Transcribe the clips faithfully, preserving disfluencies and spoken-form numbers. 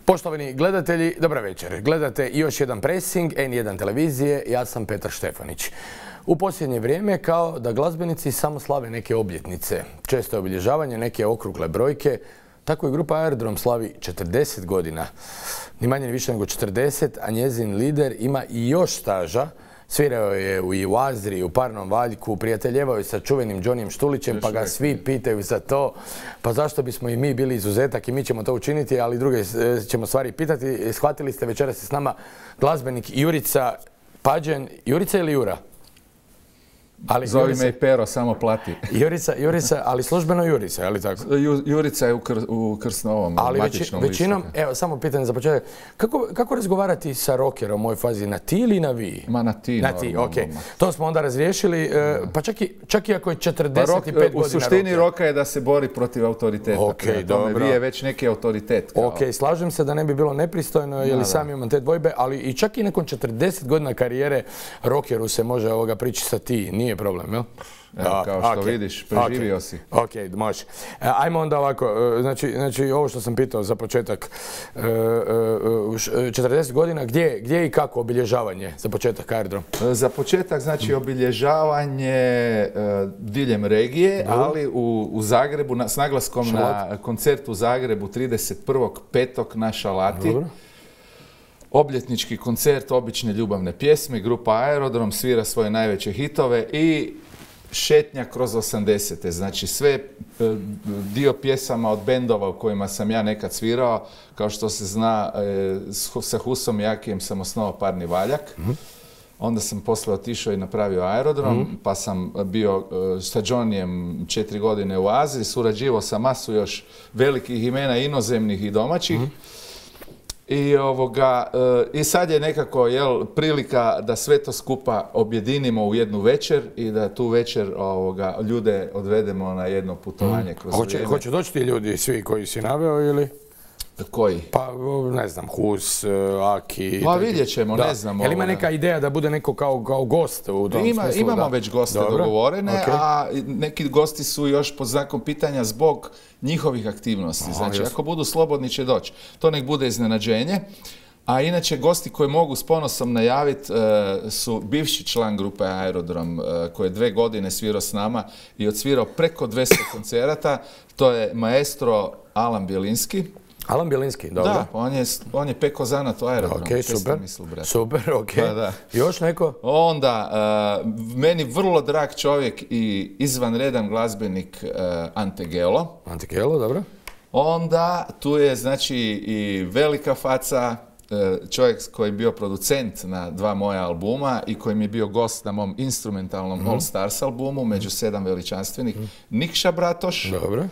Poštovani gledatelji, dobra večer. Gledate još jedan Pressing, en jedan televizije, ja sam Petar Štefanić. U posljednje vrijeme kao da glazbenici samo slave neke obljetnice, često je obilježavanje neke okrugle brojke, tako i grupa Aerodrom slavi četrdeset godina. Ni manje ni više nego četrdeset, a njezin lider ima i još staža. Svirao je i u Azri, i u Parnom Valjku, prijateljevao je sa čuvenim Johnnyem Štulićem, pa ga svi pitaju za to. Pa zašto bismo i mi bili izuzetak i mi ćemo to učiniti, ali druge ćemo stvari pitati. Shvatili ste, večeras je s nama glazbenik Jurica Pađen. Jurica ili Jura? Ali Zovi Jurica, me i Pero, samo plati. Jurica, Jurica, ali službeno Jurica, je li tako? Ju, Jurica je u, kr, u Krsnovom, ali u matičnom veći, većinom, evo, samo pitanje za početak. Kako, kako razgovarati sa rockerom u ovoj fazi? Na ti ili na vi? Ma na ti, na ti, ok. To smo onda razriješili, pa čak i, čak i ako je četrdeset pet pa rock, godina u suštini rockera. Roka je da se bori protiv autoriteta. Ok, dobro. Vi je već neki autoritet. Kao. Ok, slažem se da ne bi bilo nepristojno, jer sam imam te dvojbe, ali i čak i nakon četrdeset godina karijere rockeru se može ovoga prići sa ti, nije problem, jel? Evo, kao što okay. vidiš, preživio okay. si. Ok, može. Ajmo onda ovako, znači, znači ovo što sam pitao za početak, četrdeset godina, gdje, gdje i kako obilježavanje za početak Aerodrom? Za početak, znači, obilježavanje diljem regije, Dobro. ali u, u Zagrebu, na, s naglaskom Šalat. na koncert u Zagrebu trideset prvog petog na Šalati. Dobro. Obljetnički koncert obične ljubavne pjesme, grupa Aerodrom svira svoje najveće hitove i šetnja kroz osamdesete. Znači sve dio pjesama od bendova u kojima sam ja nekad svirao, kao što se zna, sa Husom i Jakijem sam osnovao Parni Valjak. Mm-hmm. Onda sam posle otišao i napravio Aerodrom, mm-hmm. pa sam bio sa Johnnyem četiri godine u Aziji, surađivao sa masu još velikih imena inozemnih i domaćih. Mm-hmm. I, ovoga, I sad je nekako jel, prilika da sve to skupa objedinimo u jednu večer i da tu večer ovoga, ljude odvedemo na jedno putovanje kroz Hoće, vrijeme. Hoće doći ti ljudi, svi koji si naveo ili? Koji? Pa, ne znam, Hus, Aki... Pa vidjet ćemo, da. ne znam. Jel ima neka ideja da bude neko kao, kao gost u tom ima, smislu? Imamo da... već goste Dobro. dogovorene, okay. a neki gosti su još pod znakom pitanja zbog njihovih aktivnosti. Aha, znači, jasno. Ako budu slobodni će doći. To nek bude iznenađenje. A inače, gosti koje mogu s ponosom najaviti uh, su bivši član grupe Aerodrom, uh, koji je dve godine svirao s nama i odsvirao preko dvjesto koncerata. To je maestro Alan Bjelinski. Alan Bjelinski, dobro. Da, on je, on je peko zanat u Aerodrom. Ok, super, mislil, super, ok. Da, da. Još neko? Onda, uh, meni vrlo drag čovjek i izvanredan glazbenik uh, Ante Gelo. Ante Gelo, dobro. Onda, tu je, znači, i velika faca, uh, čovjek koji je bio producent na dva moja albuma i koji mi je bio gost na mom instrumentalnom mm-hmm. All Stars albumu, među sedam veličanstvenih, mm-hmm. Nikša Bratoš. Dobro.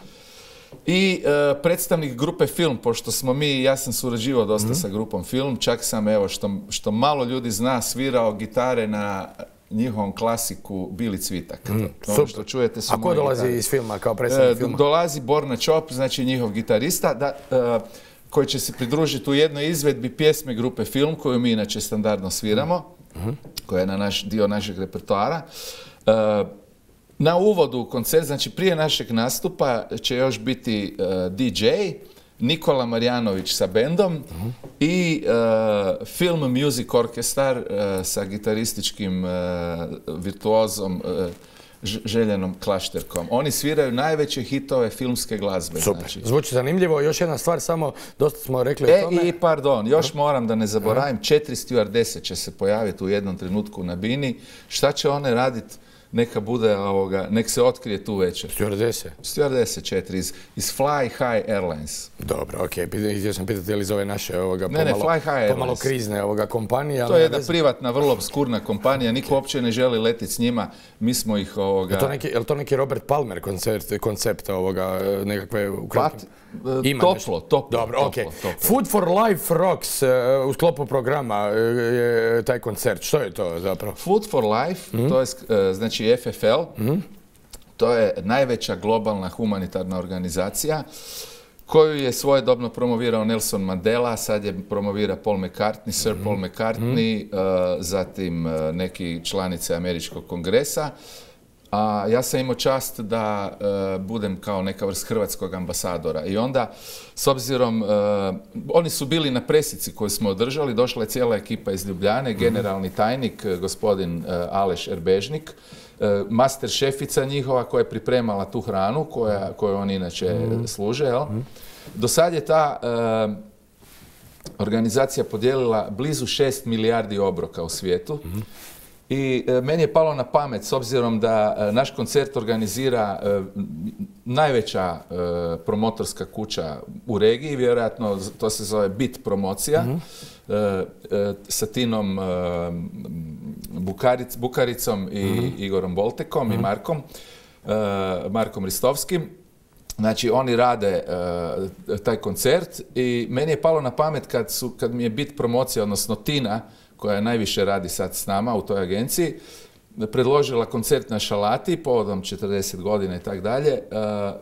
I uh, predstavnik grupe Film, pošto smo mi, ja sam surađivao dosta mm-hmm. sa grupom Film, čak sam, evo, što, što malo ljudi zna, svirao gitare na njihovom klasiku Bili Cvitak. Mm, to, ono što čujete su A ko dolazi gitare. Iz filma, kao predstavnik filma? Dolazi Borna Čop, znači njihov gitarista, da, uh, koji će se pridružiti u jednoj izvedbi pjesme grupe Film, koju mi inače standardno sviramo, mm-hmm. koja je na naš, dio našeg repertoara. Uh, Na uvodu u koncert, znači prije našeg nastupa, će još biti uh, D J, Nikola Marjanović sa bendom uh-huh. i uh, Film Music Orchestar uh, sa gitarističkim uh, virtuozom uh, Željenom Klašterkom. Oni sviraju najveće hitove filmske glazbe. Super, znači. Zvuči zanimljivo. Još jedna stvar, samo dosta smo rekli e, o tome. I pardon, još moram da ne zaboravim, četiri stjuardese će se pojaviti u jednom trenutku na bini. Šta će one raditi? Neka bude ovoga, nek se otkrije tu večer. Stjuardese? Stjuardese četiri iz, iz Fly High Airlines. Dobro, okej. Okay. Htio sam pitati je li zove naše ovoga ne, pomalo, ne, Fly High Airlines. pomalo krizne ovoga kompanije. To je jedna privatna, vrlo obskurna kompanija. Niko uopće ne želi letiti s njima. Mi smo ih ovoga... Je to neki, je to neki Robert Palmer koncept, koncept ovoga nekakve... Pat, Ima toplo, nešto. toplo. Dobro, toplo, okej. Okay. Food for Life Rocks uh, u sklopu programa je taj koncert. Što je to zapravo? Food for Life, mm-hmm. to je uh, znači F F L, mm-hmm. to je najveća globalna humanitarna organizacija koju je svojedobno promovirao Nelson Mandela, sad je promovira Paul McCartney, Sir mm-hmm. Paul McCartney, mm-hmm. uh, zatim uh, neki članice Američkog kongresa. a ja sam imao čast da uh, budem kao neka vrst hrvatskog ambasadora. I onda, s obzirom, uh, oni su bili na presici koju smo održali, došla je cijela ekipa iz Ljubljane, generalni tajnik, gospodin uh, Aleš Erbežnik, uh, master šefica njihova koja je pripremala tu hranu koja, koju oni inače mm. služe. Jel? Mm. Do sad je ta uh, organizacija podijelila blizu šest milijardi obroka u svijetu. Mm. I e, meni je palo na pamet, s obzirom da e, naš koncert organizira e, najveća e, promotorska kuća u regiji, vjerojatno to se zove Bit promocija, mm-hmm. e, e, sa Tinom e, Bukaric, Bukaricom i mm-hmm. Igorom Boltekom mm-hmm. i Markom, e, Markom Ristovskim. Znači, oni rade e, taj koncert i meni je palo na pamet kad, su, kad mi je Bit promocija, odnosno Tina, koja najviše radi sad s nama u toj agenciji, predložila koncert na Šalati povodom četrdeset godina i tako dalje.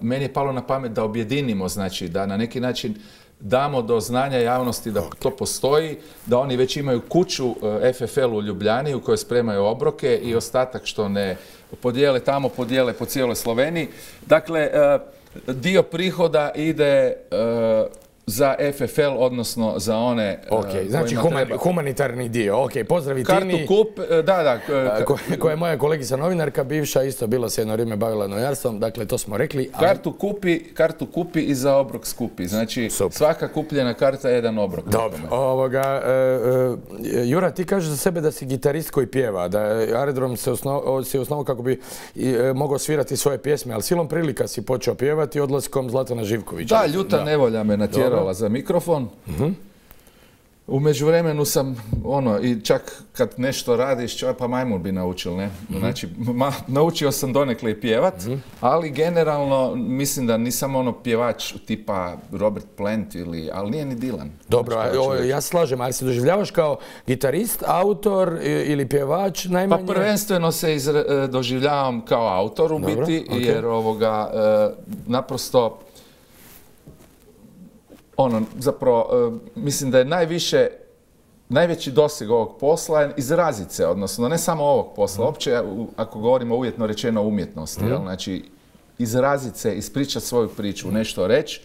Meni je palo na pamet da objedinimo, znači da na neki način damo do znanja javnosti da to postoji, da oni već imaju kuću F F L u Ljubljani u kojoj spremaju obroke i ostatak što ne podijele tamo, podijele po cijeloj Sloveniji. Dakle, dio prihoda ide za F F L, odnosno za one... Ok, uh, znači human, humanitarni dio. Ok, pozdravi Kartu Tini. kup, da, da. Ko, koja je moja kolegica novinarka, bivša, isto bila se jedno vrijeme bavila novinarstvom, dakle to smo rekli. Ali... Kartu kupi, kartu kupi i za obrok skupi. Znači Super. Svaka kupljena karta je jedan obrok. Dobro. Ovoga, uh, uh, Jura, ti kažeš za sebe da si gitarist koji pjeva, da Aerodrom se osnovao osnovo kako bi uh, mogao svirati svoje pjesme, ali silom prilika si počeo pjevati odlaskom Zlatana Živkovića. Da, ljuta da. nevolja me natjerala za mikrofon. Uh-huh. U međuvremenu sam, ono, i čak kad nešto radiš, čovjek pa majmun bi naučil, ne? Uh-huh. Znači, ma, naučio sam donekle i pjevat, uh-huh. ali generalno mislim da nisam ono pjevač tipa Robert Plant ili, ali nije ni Dylan. Dobro, znači, o, ja se slažem, ali se doživljavaš kao gitarist, autor ili pjevač najmanje? Pa prvenstveno se izre, doživljavam kao autor u Dobro, biti, okay. jer ovoga, e, naprosto ono, zapravo, mislim da je najviše, najveći doseg ovog posla je izrazit se, odnosno ne samo ovog posla, mm. opće, ako govorimo uvjetno rečeno o umjetnosti, mm. jel? Znači, izrazit se, ispričati svoju priču, nešto reći.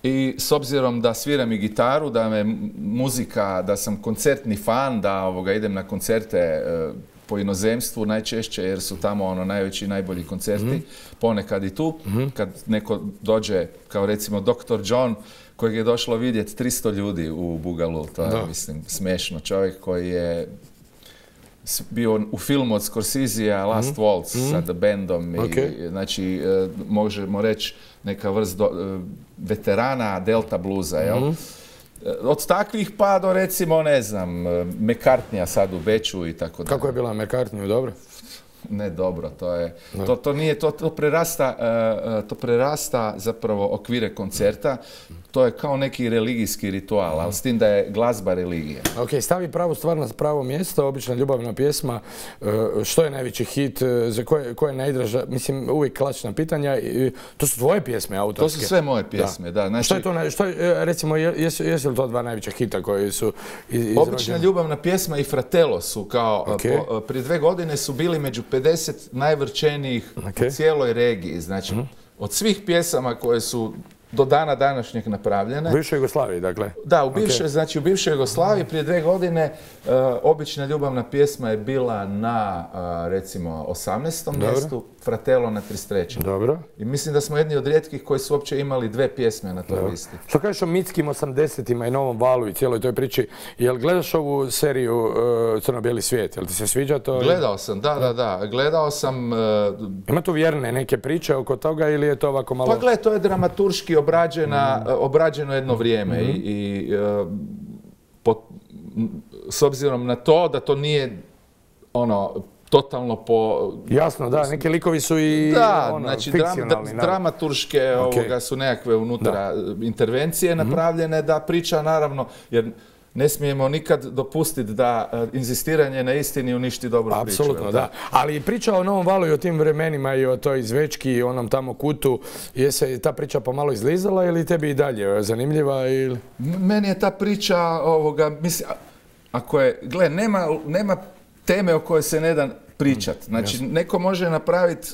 I s obzirom da sviram i gitaru, da me muzika, da sam koncertni fan, da ovoga, idem na koncerte e, po inozemstvu najčešće, jer su tamo ono najveći i najbolji koncerti, mm. ponekad i tu, mm. kad neko dođe, kao recimo doktor John, kojeg je došlo vidjeti tristo ljudi u Bugalu, to je, da. mislim, smiješno. Čovjek koji je bio u filmu od Scorsesea, Last mm. Waltz, mm. sa The Bandom, okay. i, znači, možemo reći neka vrst do, veterana Delta bluza, jel? Mm. Od takvih pa do, recimo, ne znam, McCartneya sad u Beču i tako dalje. Kako je bila McCartneyu, dobro? Ne dobro, to je, to, to nije, to, to prerasta, uh, to prerasta zapravo okvire koncerta, to je kao neki religijski ritual, ali s tim da je glazba religija. Ok, stavi pravu stvar na pravo mjesto, obična ljubavna pjesma, uh, što je najveći hit, uh, za koje, koje je najdraža, mislim, uvijek klasična pitanja, uh, to su tvoje pjesme autorske? To su sve moje pjesme, da. da. Znači, što je to, što je, recimo, jesu, jesu li to dva najveća hita koji su izrađeni? Obična ljubavna pjesma i Fratello su kao, okay. po, prije dve godine su bili među pedeset najvrčenijih okay. u cijeloj regiji. Znači, mm-hmm. od svih pjesama koje su do dana današnjeg napravljene. U bivšoj Jugoslaviji, dakle? Da, u bivšoj, okay. znači u bivšoj Jugoslaviji prije dve godine uh, obična ljubavna pjesma je bila na, uh, recimo, osamnaestom mjestu, Fratello na trideset trećem Dobro. I mislim da smo jedni od rijetkih koji su uopće imali dve pjesme na toj Dobro. listi. Što kažeš o mitskim osamdesetima i Novom valu i cijeloj toj priči, jel gledaš ovu seriju uh, Crno-bijeli svijet? Jel ti se sviđa to? Gledao sam, da, da, da. Gledao sam... Uh, Ima tu vjerne neke priče oko toga ili je to ovako malo... Pa gle, to je dramaturški obrađena, mm. obrađeno jedno vrijeme mm-hmm. i, i uh, po, s obzirom na to da to nije ono totalno po... Jasno, da, neki likovi su i da, ono, znači, fikcionalni. Dram, dramaturške okay. ovoga su nekakve unutra da. intervencije mm-hmm. napravljene da priča naravno, jer ne smijemo nikad dopustiti da uh, inzistiranje na istini uništi dobru priču. Apsolutno, da. Ali priča o Novom valu i o tim vremenima i o toj Zvečki i onom tamo kutu, je se ta priča pomalo izlizala ili tebi i dalje zanimljiva? Ili? Meni je ta priča, ovoga, mislim, ako je, gle, nema, nema teme o kojoj se ne da pričat. Znači, neko može napraviti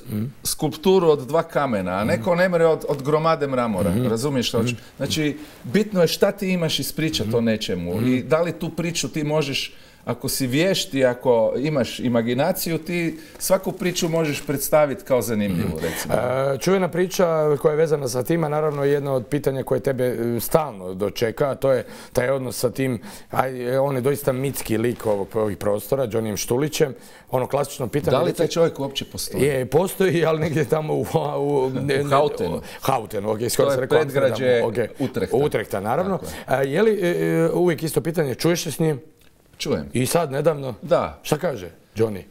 skulpturu od dva kamena, a neko ne more od, od gromade mramora. Razumiješ što hoću? Znači, bitno je šta ti imaš ispričati o nečemu i da li tu priču ti možeš, ako si vješti, ako imaš imaginaciju, ti svaku priču možeš predstaviti kao zanimljivu, recimo. E, čuvena priča koja je vezana sa tima, naravno je jedno od pitanja koje tebe stalno dočeka, a to je taj odnos sa tim, aj, on je doista mitski lik ovog, ovih prostora, Johnnyem Štulićem. Ono klasično pitanje... Da li taj čovjek uopće postoji? Je, postoji, ali negdje tamo u... U, u Hautenu. Hautenu, ok, skoro se rekao. To je predgrađe okay. Utrehta. Utrehta, naravno. Je. je li e, uvijek isto pitanje, čuješ se s njim? Čujem. I sad, nedavno? Da. Šta kaže Johnny?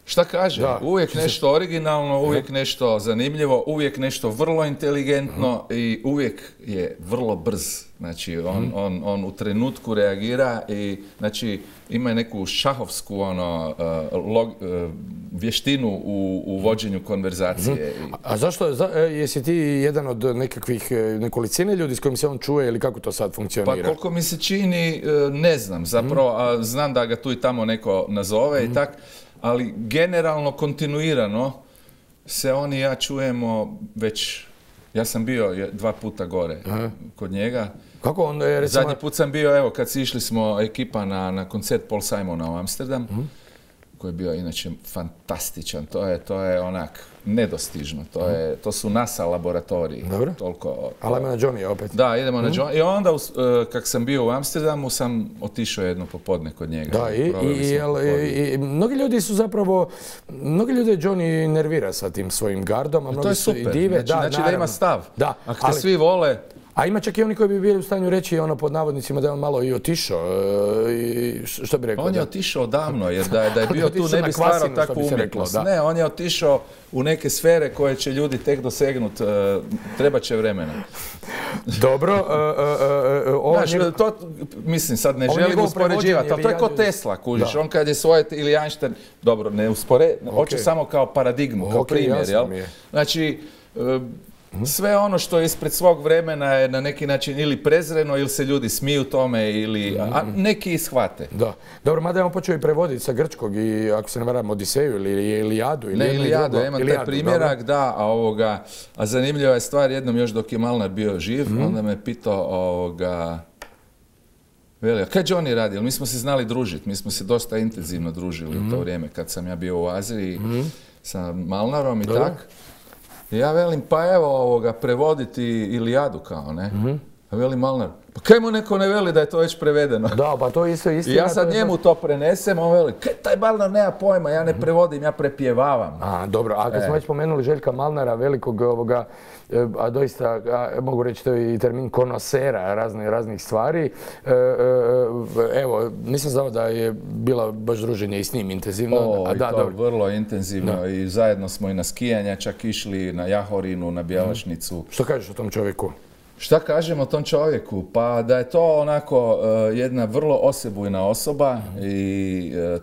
Šta kaže? Da. Uvijek nešto originalno, uvijek nešto zanimljivo, uvijek nešto vrlo inteligentno uh-huh. i uvijek je vrlo brz. Znači, on, uh-huh. on, on u trenutku reagira i znači, ima neku šahovsku ono, uh, log, uh, vještinu u, u vođenju konverzacije. Uh-huh. A zašto, za, jesi ti jedan od nekakvih nekolicine ljudi s kojim se on čuje ili kako to sad funkcionira? Pa koliko mi se čini, ne znam zapravo, uh-huh. a znam da ga tu i tamo neko nazove uh-huh. i tak. Ali generalno, kontinuirano se on i ja čujemo već, ja sam bio dva puta gore Aha. kod njega. Kako on je, recimo... Zadnji put sam bio, evo, kad si išli smo ekipa na, na koncert Paul Simona u Amsterdam, uh-huh. koji je bio inače fantastičan, to je, to je onak nedostižno, to, uh-huh. je, to su NASA laboratoriji. Dobro. Toliko, ali idemo na Johnny opet. Da, idemo uh-huh. na Johnny. I onda, uh, kak sam bio u Amsterdamu, sam otišao jedno popodne kod njega. Da, i, i, jel, i, i mnogi ljudi su zapravo, mnogi ljudi Johnny nervira sa tim svojim gardom, a mnogi to je su super. i dive. Znači, da, znači da ima stav. Da, ako te ali, svi vole... A ima čak i oni koji bi bili u stanju reći ono pod navodnicima da je on malo i otišao. I što bi rekao? On je da? otišao odavno, jer da, da je bio tu ne bi stvarao takvu umjetnost. Ne, on je otišao u neke sfere koje će ljudi tek dosegnuti, uh, treba će vremena. Dobro. Uh, uh, uh, Znaš, njegov... to, mislim, sad ne želim uspoređivati, ali to je ko Tesla, kužiš. Da. On kad je svoje, ili Einstein, dobro, ne uspore, okay. hoće samo kao paradigmu, kao okay, primjer, jel? Je. Znači, uh, sve ono što je ispred svog vremena je na neki način ili prezreno ili se ljudi smiju tome ili a neki ishvate. Da. Dobro, mada je on počeo i prevoditi sa grčkog i ako se ne varam Odiseju ili Ilijadu. Ili ne, Ilijadu, ja imam taj primjerak, dobro. Da, a, ovoga, a zanimljiva je stvar, jednom još dok je Malnar bio živ, mm. onda me pitao ovoga, veli, a kaj Johnny radi? Mi smo se znali družiti, mi smo se dosta intenzivno družili mm. u to vrijeme kad sam ja bio u Aziji mm. sa Malnarom i tak. Ja velim, pa evo ovoga, prevoditi Ilijadu kao, ne? Mm-hmm. A veli Malnar, pa kaj mu neko ne veli da je to već prevedeno? Da, pa to je isto istina. I ja sad to njemu to prenesem, on veli, kaj taj Malnar nema pojma, ja ne mm-hmm. prevodim, ja prepjevavam. A, dobro, a kad e. smo već spomenuli Željka Malnara, velikog ovoga, a doista, a, mogu reći to je i termin konosera razne, raznih stvari. E, e, evo, nisam znao da je bila baš druženje i s njim intenzivno. O, a, i da, to dobro. Vrlo intenzivno da. I zajedno smo i na skijanja, čak išli na Jahorinu, na Bjelašnicu. Mm. Što kažeš o tom čovjeku? Šta kažem o tom čovjeku? Pa da je to onako uh, jedna vrlo osebujna osoba mm. i uh,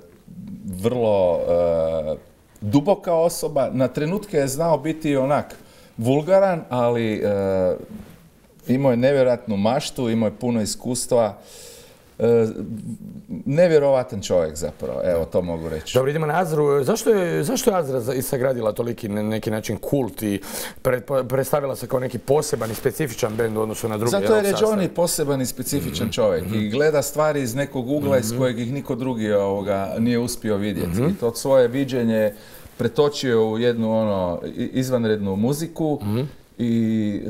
vrlo uh, duboka osoba. Na trenutke je znao biti onak vulgaran, ali uh, imao je nevjerojatnu maštu, imao je puno iskustva. Uh, nevjerovatan čovjek zapravo, evo to mogu reći. Dobro, idemo na Azru. Zašto je, zašto je Azra sagradila toliki na neki način kult i pre, predstavila se kao neki poseban i specifičan bend u odnosu na druge? Zato jer je Johnny poseban i specifičan čovjek mm-hmm. i gleda stvari iz nekog ugla mm-hmm. iz kojeg ih niko drugi ovoga nije uspio vidjeti. Mm-hmm. I to svoje viđenje pretočio u jednu ono izvanrednu muziku mm-hmm. i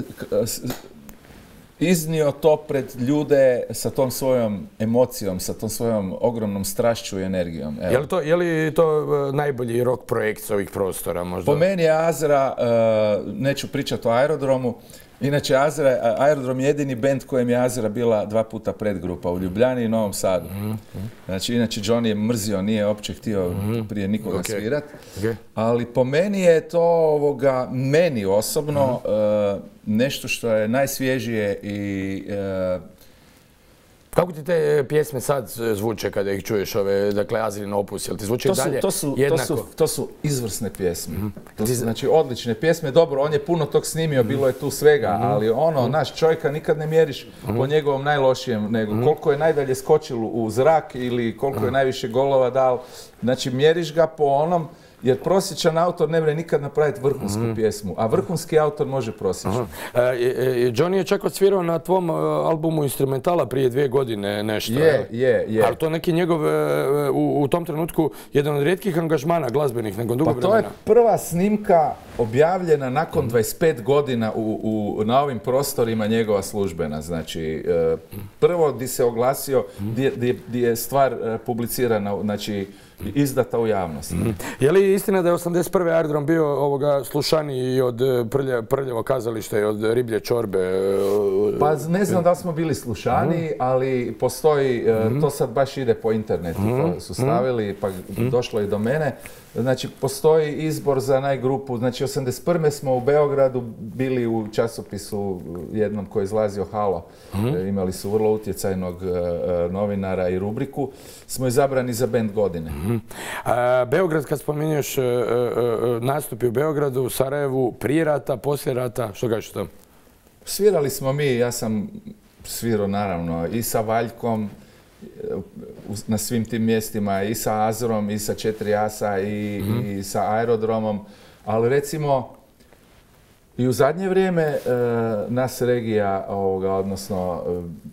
iznio to pred ljude sa tom svojom emocijom, sa tom svojom ogromnom strašću i energijom. Evo. Je li to, je li to najbolji rock projekt s ovih prostora možda? Po meni je Azra, uh, neću pričati o Aerodromu, inače Azra, Aerodrom je jedini bend kojem je Azra bila dva puta predgrupa u Ljubljani i Novom Sadu. Mm-hmm. Znači, inače Johnny je mrzio, nije uopće htio mm-hmm. prije nikoga okay. svirat. Okay. Ali po meni je to ovoga, meni osobno mm-hmm. uh, nešto što je najsvježije i uh, Kako ti te pjesme sad zvuče kada ih čuješ, ove, dakle, Azrin opus, jel ti zvuče i dalje to su, jednako? To su, to su izvrsne pjesme. Mm-hmm. To su, znači, odlične pjesme. Dobro, on je puno tog snimio, bilo je tu svega, mm-hmm. ali ono, mm-hmm. naš čovjeka nikad ne mjeriš mm-hmm. po njegovom najlošijem, nego mm-hmm. koliko je najdalje skočilo u zrak ili koliko mm-hmm. je najviše golova dal. Znači, mjeriš ga po onom, jer prosječan autor ne može nikad napraviti vrhunsku mm. pjesmu, a vrhunski autor može prosječan. E, e, Johnny je čak odsvirao na tvom albumu instrumentala prije dvije godine nešto. Je, je, je. Ali to neki njegov, u, u tom trenutku, jedan od rijetkih angažmana glazbenih, nakon dugo vremena. Pa to je prva snimka objavljena nakon dvadeset pet godina u, u, na ovim prostorima njegova službena. Znači, prvo di se oglasio, di, di, di je stvar publicirana, znači, izdata u javnosti. Mm. Je li istina da je osamdeset prve aerodrom bio ovoga slušaniji od prlja, prljavo kazališta i od riblje čorbe? Pa ne znam da smo bili slušaniji, mm. ali postoji, mm. to sad baš ide po internetu, mm. to su stavili, pa mm. došlo i do mene. Znači, postoji izbor za najgrupu. Znači, osamdeset prve smo u Beogradu bili u časopisu jednom koji je izlazio Halo. Mm. Imali su vrlo utjecajnog uh, novinara i rubriku. Smo izabrani za bend godine. Mm. A, Beograd, kad spominješ uh, uh, nastupi u Beogradu, u Sarajevu, prije rata, poslije rata, što kažeš to? Svirali smo mi, ja sam svirao naravno i sa Valjkom, na svim tim mjestima, i sa Azrom, i sa četiri asa, i, mm. i sa aerodromom, ali recimo i u zadnje vrijeme e, nas regija, ovoga, odnosno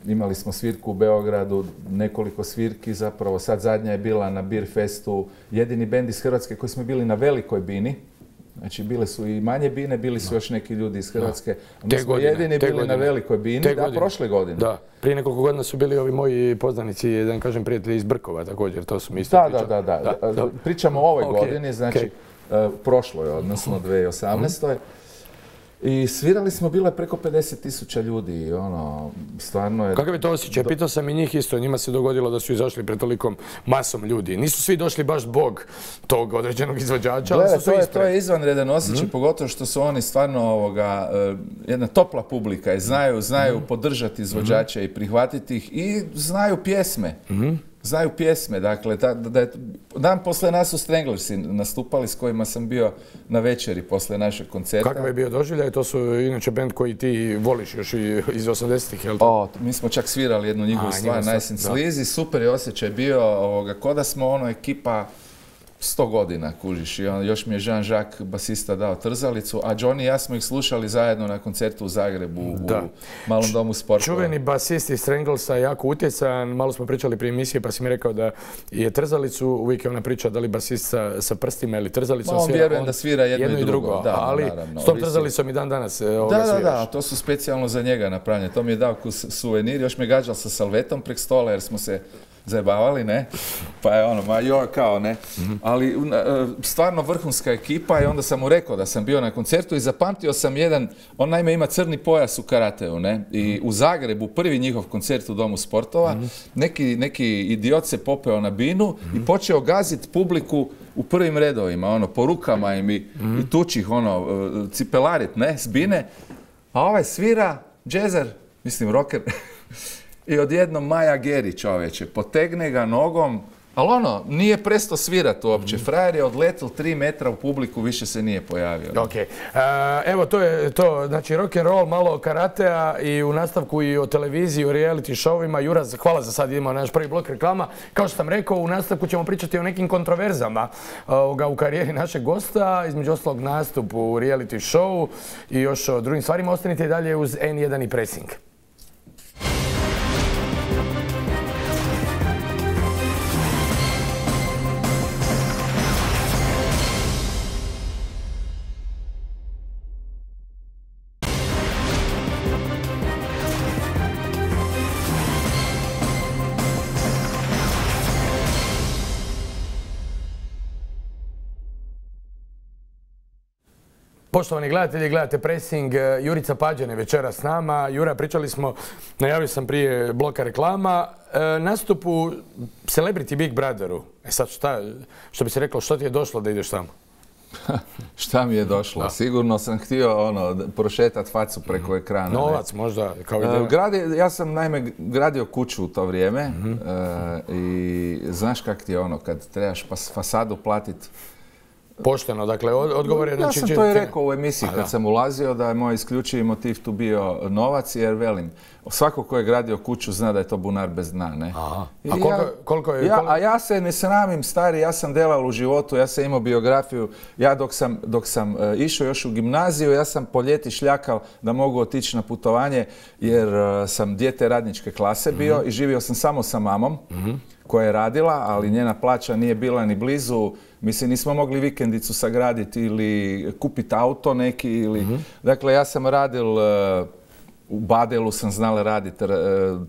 e, imali smo svirku u Beogradu, nekoliko svirki zapravo, sad zadnja je bila na Beer Festu, jedini bend iz Hrvatske koji smo bili na velikoj bini. Znači, bile su i manje bine, bili su još neki ljudi iz Hrvatske. Mi smo jedini bili na velikoj bini, da, prošle godine. Da, prije nekoliko godina su bili ovi moji poznanici, da ne kažem prijatelji iz Brkova također, to su mi isto pričali. Da, da, da. Pričamo o ovoj godini, znači prošloj, odnosno dvije tisuće osamnaestoj. I svirali smo, bilo je preko pedeset tisuća ljudi, ono, stvarno je... Kakav je to osjećaj? Pitao sam i njih isto, njima se dogodilo da su izašli pred tolikom masom ljudi. Nisu svi došli baš bog tog određenog izvođača, ali su svi ispred. To je izvanredan osjećaj, pogotovo što su oni stvarno ovoga, jedna topla publika i znaju, znaju podržati izvođače i prihvatiti ih i znaju pjesme. Znaju pjesme, dakle, da, da je, dan posle nas su Stranglersi nastupali s kojima sam bio na večeri posle našeg koncerta. Kakav je bio doživljaj? To su inače bend koji ti voliš još i iz osamdesetih, jel' to? O, mi smo čak svirali jednu njihovu stvar, Nice and Sleazy, super je osjećaj bio, ovoga, ko da smo ono ekipa sto godina, kužiš, i on, još mi je Jean-Jacques, basista, dao trzalicu, a Johnny i ja smo ih slušali zajedno na koncertu u Zagrebu, da. U Malom domu sportova. Čuveni basist iz Stranglesa, jako utjecajan, malo smo pričali prije emisije, pa si mi rekao da je trzalicu, uvijek je ona priča da li basist sa, sa prstima ili trzalicom Ma, on svira. Vjerujem on, da svira jedno, jedno i drugo, drugo. Da, ali naravno, s tom trzalicom i dan danas ovoga da, da, sviraš. Da, to su specijalno za njega napravljene, to mi je dao suvenir, još me gađal sa salvetom prek stola jer smo se zajebavali, ne? Pa je ono, ma joj, kao, ne? Mm-hmm. Ali stvarno vrhunska ekipa i onda sam mu rekao da sam bio na koncertu i zapamtio sam jedan, on naime ima crni pojas u karateu, ne? I u Zagrebu, prvi njihov koncert u Domu sportova, mm-hmm. neki, neki idiot se popeo na binu mm-hmm. i počeo gaziti publiku u prvim redovima, ono, po rukama im i, mm-hmm. i tučih, ono, cipelarit, ne? S bine. A ovaj svira, džezer, mislim, rocker, i odjednom Maja Geri, čovječe, potegne ga nogom, ali ono, nije presto svirat uopće. Frajer je odletel tri metra u publiku, više se nije pojavio. Ok. Uh, evo, to je to. Znači, rock and roll, malo karatea i u nastavku i o televiziji, o reality showima. Jura, hvala za sad, idemo na naš prvi blok reklama. Kao što sam rekao, u nastavku ćemo pričati o nekim kontroverzama uh, u karijeri našeg gosta, između ostalog nastup u reality show i još o drugim stvarima. Ostanite i dalje uz en jedan i Pressing. Poštovani gledatelji, gledate Pressing, Jurica Pađen je večera s nama. Jura, pričali smo, najavio sam prije bloka reklama, e, nastup u Celebrity Big Brotheru. E sad šta, što bi se reklo, što ti je došlo da ideš tamo? Šta mi je došlo? Da. Sigurno sam htio ono, prošetat facu preko ekrana. Novac ne? Možda kao ideja? Gradi, ja sam naime gradio kuću u to vrijeme mm-hmm. uh, i znaš kak ti je ono kad trebaš fasadu platiti. Pošteno, dakle, odgovor je... Ja sam to i rekao u emisiji kad sam ulazio da je moj isključivi motiv tu bio novac, jer velim, svako ko je gradio kuću zna da je to bunar bez dna, ne? Aha. A koliko, ja, koliko je... Ja, koliko... A ja se ne sramim, stari, ja sam delal u životu, ja sam imao biografiju, ja dok sam, dok sam uh, išao još u gimnaziju, ja sam po ljeti šljakal da mogu otići na putovanje, jer uh, sam dijete radničke klase bio mm-hmm. i živio sam samo sa mamom. Mm-hmm. koja je radila, ali njena plaća nije bila ni blizu. Mislim, nismo mogli vikendicu sagraditi ili kupiti auto neki. Ili... Mm-hmm. Dakle, ja sam radil, uh, u Badelu sam znala raditi, uh,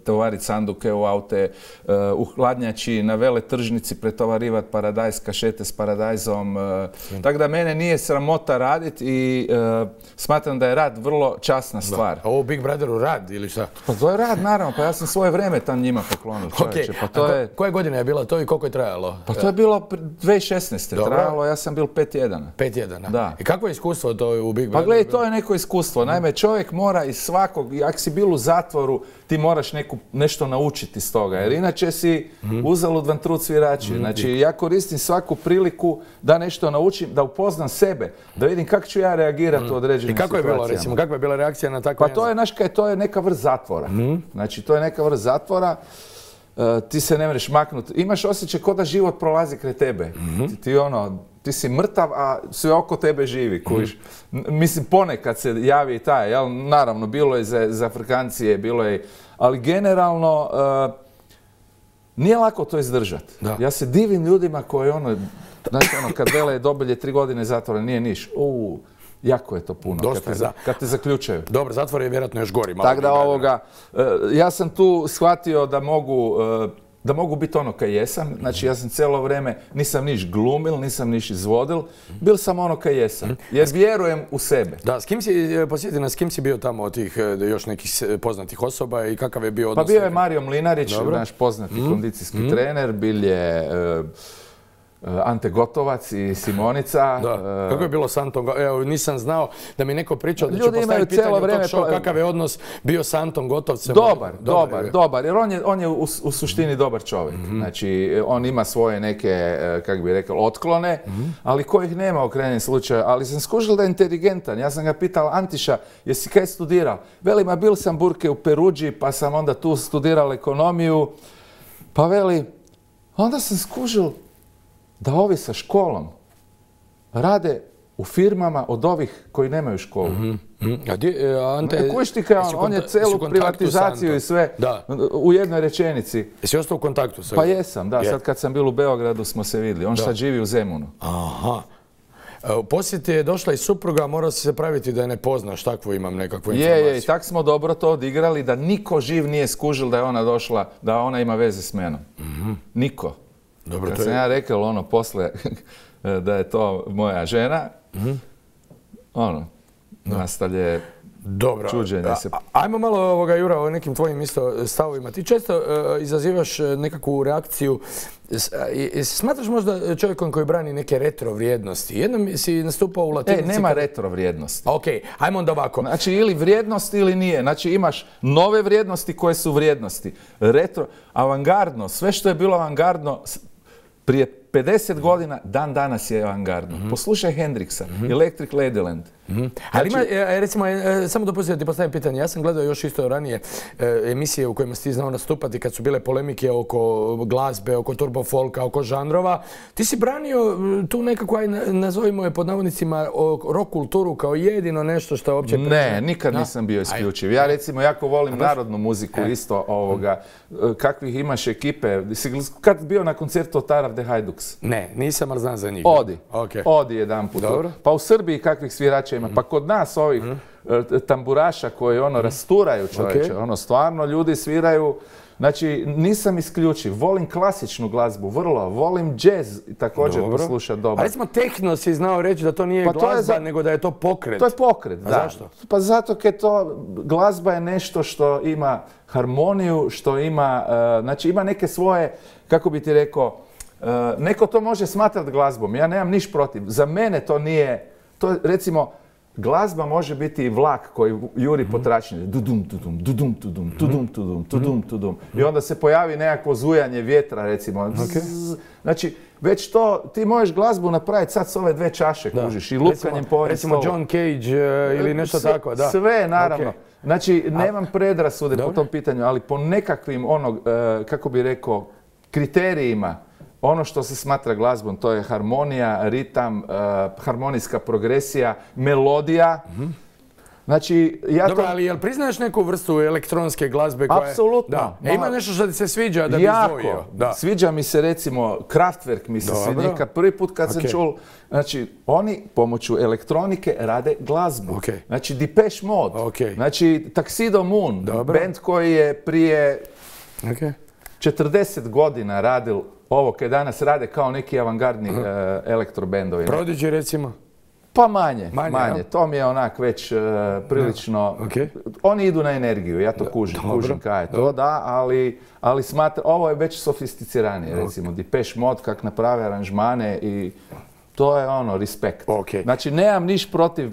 tovariti sanduke u aute, uh, u hladnjači, na vele tržnici pretovarivati paradajz, kašete s paradajzom. Uh, mm. Tako da mene nije sramota raditi i uh, smatram da je rad vrlo časna stvar. Da. A ovo Big Brotheru rad ili šta? Pa to je rad, naravno. Pa ja sam svoje vreme tam njima poklonio, čovječe. Okay. Pa to ko, je... Koje godine je bilo to i koliko je trajalo? Pa to je bilo dvije tisuće šesnaeste. Dobro. Trajalo, ja sam bil pet tjedana. Pet tjedana? Da. I kako je iskustvo to u Big Brotheru? Pa gledaj, to je neko iskustvo. Naime, čovjek mora iz svakog, ako si bil u zatvoru, ti moraš neku, nešto naučiti iz toga. Jer inače si mm. uzalud vam trud svirači. Mm. Znači, ja koristim svaku priliku da nešto naučim, da upoznam sebe, da vidim kako ću ja reagirati mm. u određenim situacijama. I kako je bilo, recimo, kakva je bila reakcija na tako... Pa to je, naš, to je neka vrst zatvora. Mm. Znači, to je neka vrst zatvora. Uh, ti se ne možeš maknuti. Imaš osjećaj kao da život prolazi kraj tebe. Mm-hmm. Ti, ti, ono, ti si mrtav, a sve oko tebe živi. Kužiš. Mm-hmm. Mislim, ponekad se javi i taj. Jel? Naravno, bilo je za, za Afrikancije, bilo je... Ali generalno, uh, nije lako to izdržati. Ja se divim ljudima koji ono... Znači, ono, kad vele dobilje tri godine zatvora, nije niš. Uh, jako je to puno kad te, za... kad te zaključaju. Dobro, zatvor je vjerojatno još gori. Tako da ovoga, ja sam tu shvatio da mogu, da mogu biti ono kaj jesam. Znači ja sam cijelo vrijeme, nisam niš glumil, nisam niš izvodil, bil sam ono kaj jesam. Jer vjerujem u sebe. Da, s kim si, posjeti nas, s kim si bio tamo od tih još nekih poznatih osoba i kakav je bio odnos? Pa bio je Mario Mlinarić, Dobro. naš poznati mm. kondicijski mm. trener, bil je... Uh, Ante Gotovac i Simonica. Da. Kako je bilo s Antom? Evo, nisam znao da mi neko pričao da ću postaviti pitanje u tog show kakav je odnos bio s Antom Gotovcem. Dobar, dobar, dobar, dobar. Jer on je, on je u, u suštini dobar čovjek. Mm-hmm. Znači, on ima svoje neke, kako bi rekao, otklone, mm-hmm. ali kojih nema u krajnjem slučaju. Ali sam skužil da je inteligentan. Ja sam ga pitao, Antiša, jesi kaj studirao? Veli, ma bil sam burke u Peruđi, pa sam onda tu studirao ekonomiju. Pa veli, onda sam skužil da ovi sa školom rade u firmama od ovih koji nemaju školu. Mm-hmm. A di, Ante, Kuš ti kao, on je celu privatizaciju i sve da. u jednoj rečenici. Jesi ostao u kontaktu sa... Pa jesam, da. Je. Sad kad sam bil u Beogradu smo se vidjeli. On da. sad živi u Zemunu. Aha. U posjeti je došla i supruga, morao si se praviti da je ne poznaš, takvu imam nekakvu informaciju. Je, je, i tak smo dobro to odigrali da niko živ nije skužil da je ona došla, da ona ima veze s menom. Mm-hmm. Niko. Dobro, kad to sam je... ja rekao ono posle da je to moja žena, mm-hmm. ono, no. nastavlje Dobro. čuđenje se. A, ajmo malo ovoga, Jura, o nekim tvojim isto stavovima. Ti često uh, izazivaš nekakvu reakciju. Uh, smatraš možda čovjekom koji brani neke retro vrijednosti? Jednom si nastupao u Latinici... E, nema kad... retro vrijednosti. Ok, ajmo onda ovako. Znači, ili vrijednost ili nije. Znači, imaš nove vrijednosti koje su vrijednosti. Retro, avangardno, sve što je bilo avangardno prije pedeset godina, dan danas je avangardno. Mm-hmm. Poslušaj Hendrixa, mm-hmm. Electric Ladyland. Mm-hmm. Ali znači, ima, recimo, samo dopustite da ti postavim pitanje. Ja sam gledao još isto ranije emisije u kojima si ti znao nastupati kad su bile polemike oko glazbe, oko turbo folka, oko žanrova. Ti si branio tu nekako, aj nazovimo je pod navodnicima, rock kulturu kao jedino nešto što je uopće... Ne, pre... nikad no? nisam bio isključiv. Ja recimo jako volim narodnu muziku e. isto ovoga. Kakvih imaš ekipe? Kad bio na koncertu Otar de Hajduks? Ne, nisam, ali znam za njih. Odi. Okay. Odi jedan put. Dobro. Pa u Srbiji kakvih svirača ima. Pa kod nas ovih mm. tamburaša koji ono mm. rasturaju čovječe, okay. ono stvarno ljudi sviraju. Znači nisam isključiv, volim klasičnu glazbu, vrlo, volim džez također poslušati dobro. A recimo tehno si znao reći da to nije pa glazba, to za... nego da je to pokret. To je pokret, A da. Zašto? Pa zato jer to, glazba je nešto što ima harmoniju, što ima, uh, znači ima neke svoje, kako bi ti rekao, neko to može smatrati glazbom, ja nemam niš protiv. Za mene to nije, to recimo, glazba može biti i vlak koji juri po tračnju. Dudum, tudum, dudum, tudum, tudum, tudum, tudum, tudum. I onda se pojavi nekakvo zujanje vjetra, recimo. Znači, već to, ti možeš glazbu napraviti sad s ove dve čaše, kužiš, i lupkanjem po ovim Recimo John Cage ili nešto tako, da. Sve, naravno. Znači, nemam predrasude po tom pitanju, ali po nekakvim, onog, kako bi rekao, kriterijima, ono što se smatra glazbom, to je harmonija, ritam, uh, harmonijska progresija, melodija. Mm-hmm. Znači, ja Dobro, to... ali jel priznaješ neku vrstu elektronske glazbe koja je... Apsolutno. Da. E, ima nešto što ti se sviđa da bi izdvojio? Da. Sviđa mi se recimo Kraftwerk mi se sviđa. Prvi put kad okay. sam čul, znači oni pomoću elektronike rade glazbu. Okay. Znači Depeche Mode, okay. znači Tuxedo Moon, Dobro. band koji je prije okay. četrdeset godina radil ovo koje danas rade kao neki avangardni uh, elektrobendovi. Prodigy recimo? Pa manje, manje. manje. To mi je onak već uh, prilično... Okay. Oni idu na energiju, ja to kužim, Dobro. kužim kaj je to, Dobro. da, ali, ali smatra, ovo je već sofisticiranije, okay. recimo Depeche Mode, kak naprave aranžmane i to je ono, respekt. Okay. Znači, nemam niš protiv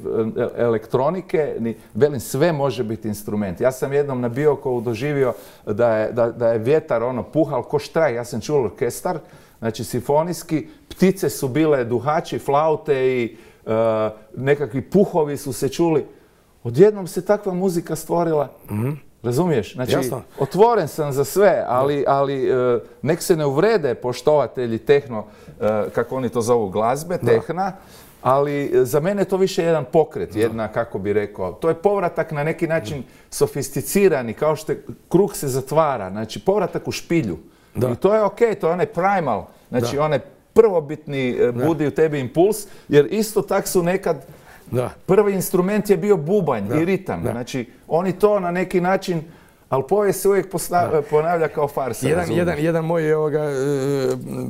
elektronike, ni, velim, sve može biti instrument. Ja sam jednom na Biokovu doživio da je, da, da je vjetar ono puhal ko štraj, ja sam čuo orkestar, znači simfonijski, ptice su bile duhači, flaute i uh, nekakvi puhovi su se čuli. Odjednom se takva muzika stvorila. Mm-hmm. Razumiješ? Znači, Jasno. otvoren sam za sve, ali, ali uh, nek se ne uvrede poštovatelji tehno, uh, kako oni to zovu, glazbe, tehna, ali za mene je to više jedan pokret, jedna, kako bi rekao, to je povratak na neki način sofisticirani, kao što je, krug se zatvara, znači povratak u špilju. Da. I to je okej, okay, to je onaj primal, znači da. onaj prvobitni uh, budi u tebi impuls, jer isto tak su nekad Da. prvi instrument je bio bubanj da. i ritam. Da. Znači, oni to na neki način, ali povijest se uvijek posna, ponavlja kao farsa. Jedan, jedan, jedan moj ovoga,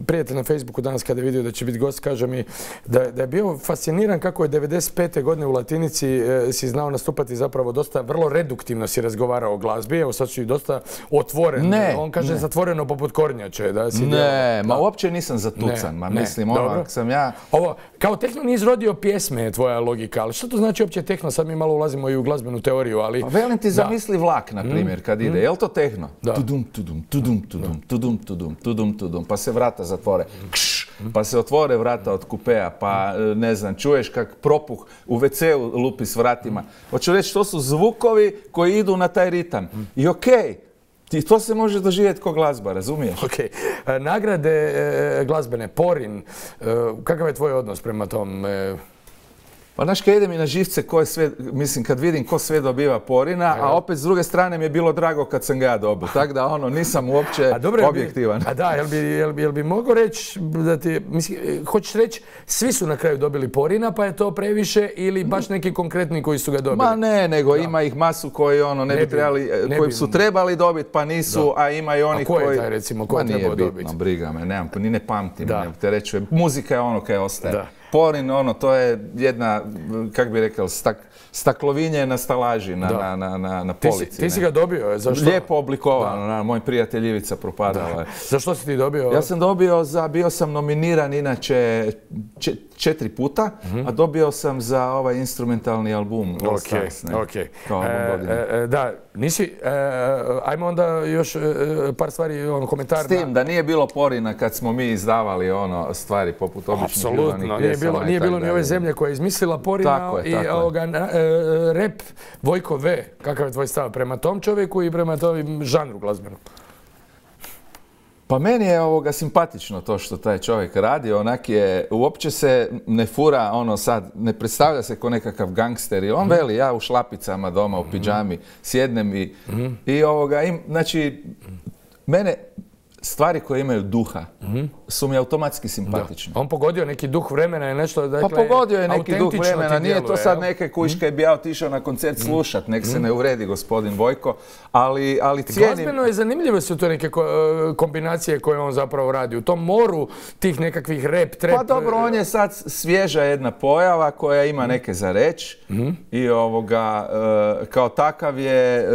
prijatelj na Facebooku danas kada je vidio da će biti gost, kaže mi da, da je bio fasciniran kako je devedeset pete godine u Latinici e, si znao nastupati zapravo dosta, vrlo reduktivno si razgovarao o glazbi. Evo sad si dosta otvoren. Ne, On kaže ne. zatvoreno poput kornjače. Da si ne, djelo, ma da. uopće nisam zatucan. Ne, ma ne. mislim, ono, sam ja... Ovo, kao tehno nije izrodio pjesme je tvoja logika, ali što to znači uopće tehno? Sad mi malo ulazimo i u glazbenu teoriju, ali... Pa velim ti, zamisli vlak, na primjer, kad ide. Je li to tehno? Tudum, tudum, tudum, tudum, tudum, tudum, tudum, tudum, pa se vrata zatvore. Kš, pa se otvore vrata od kupea, pa ne znam, čuješ kak propuh u ve ceu lupi s vratima. Hoću reći, to su zvukovi koji idu na taj ritam. I okej, I to se može doživjeti kao glazba, razumiješ? Ok. E, nagrade e, glazbene, Porin, e, kakav je tvoj odnos prema tom? E... Pa znaš, kad ide mi na živce, ko je sve, mislim, kad vidim ko sve dobiva Porina, a opet s druge strane mi je bilo drago kad sam ga ja dobio. Tako da, ono, nisam uopće a dobro, objektivan. A da, jel bi, jel bi, jel bi mogao reći da ti, mislim, hoćeš reći, svi su na kraju dobili Porina, pa je to previše ili baš neki konkretni koji su ga dobili? Ma ne, nego da. Ima ih masu koji, ono, ne, ne bi trebali, ne koji bi, su trebali dobiti, pa nisu, da. A ima i oni koji... A ko je taj, recimo, ko je trebao dobiti? Bitno, briga me, nemam, ni ne pamtim, ne te reći, muzika je ono kaj ostaje. Da. Porin, ono, to je jedna, kak bi rekao, stak, staklovinje na stalaži, na, na, na, na, na polici. Ti si, ti si ga dobio, zašto? Lijepo oblikovano, na, moj prijatelj Ivica propadala. Zašto si ti dobio? Ja sam dobio za, bio sam nominiran inače če, četiri puta, mm-hmm. a dobio sam za ovaj instrumentalni album All okay, Stars, ne? Okay. Kao e, e, da, nisi, e, ajmo onda još e, par stvari, ono, komentar. S tim, da nije bilo Porina kad smo mi izdavali ono stvari poput običnih Apsolutno, nije bilo, nije bilo ni ove zemlje koja je izmislila Porina tako je, i tako ovoga, e, rap Vojko V. Kakav je tvoj stav prema tom čovjeku i prema tom žanru glazbenom? Pa meni je ovoga simpatično to što taj čovjek radi, onak je, uopće se ne fura, ono sad, ne predstavlja se kao nekakav gangster i on mm. veli, ja u šlapicama doma, u pidžami, sjednem i, mm. i ovoga, im, znači, mene, stvari koje imaju duha mm-hmm. su mi automatski simpatične. Da. On pogodio neki duh vremena i nešto... Dakle, pa pogodio je neki duh vremena, nije to sad neke kuške mm-hmm. bi ja otišao na koncert slušat, nek mm-hmm. se ne uvredi gospodin Vojko, ali, ali cijenim... Glazbeno je zanimljive su to neke kombinacije koje on zapravo radi. U tom moru tih nekakvih rap, trap... Pa dobro, on je sad svježa jedna pojava koja ima neke za reći mm-hmm. i ovoga, kao takav je...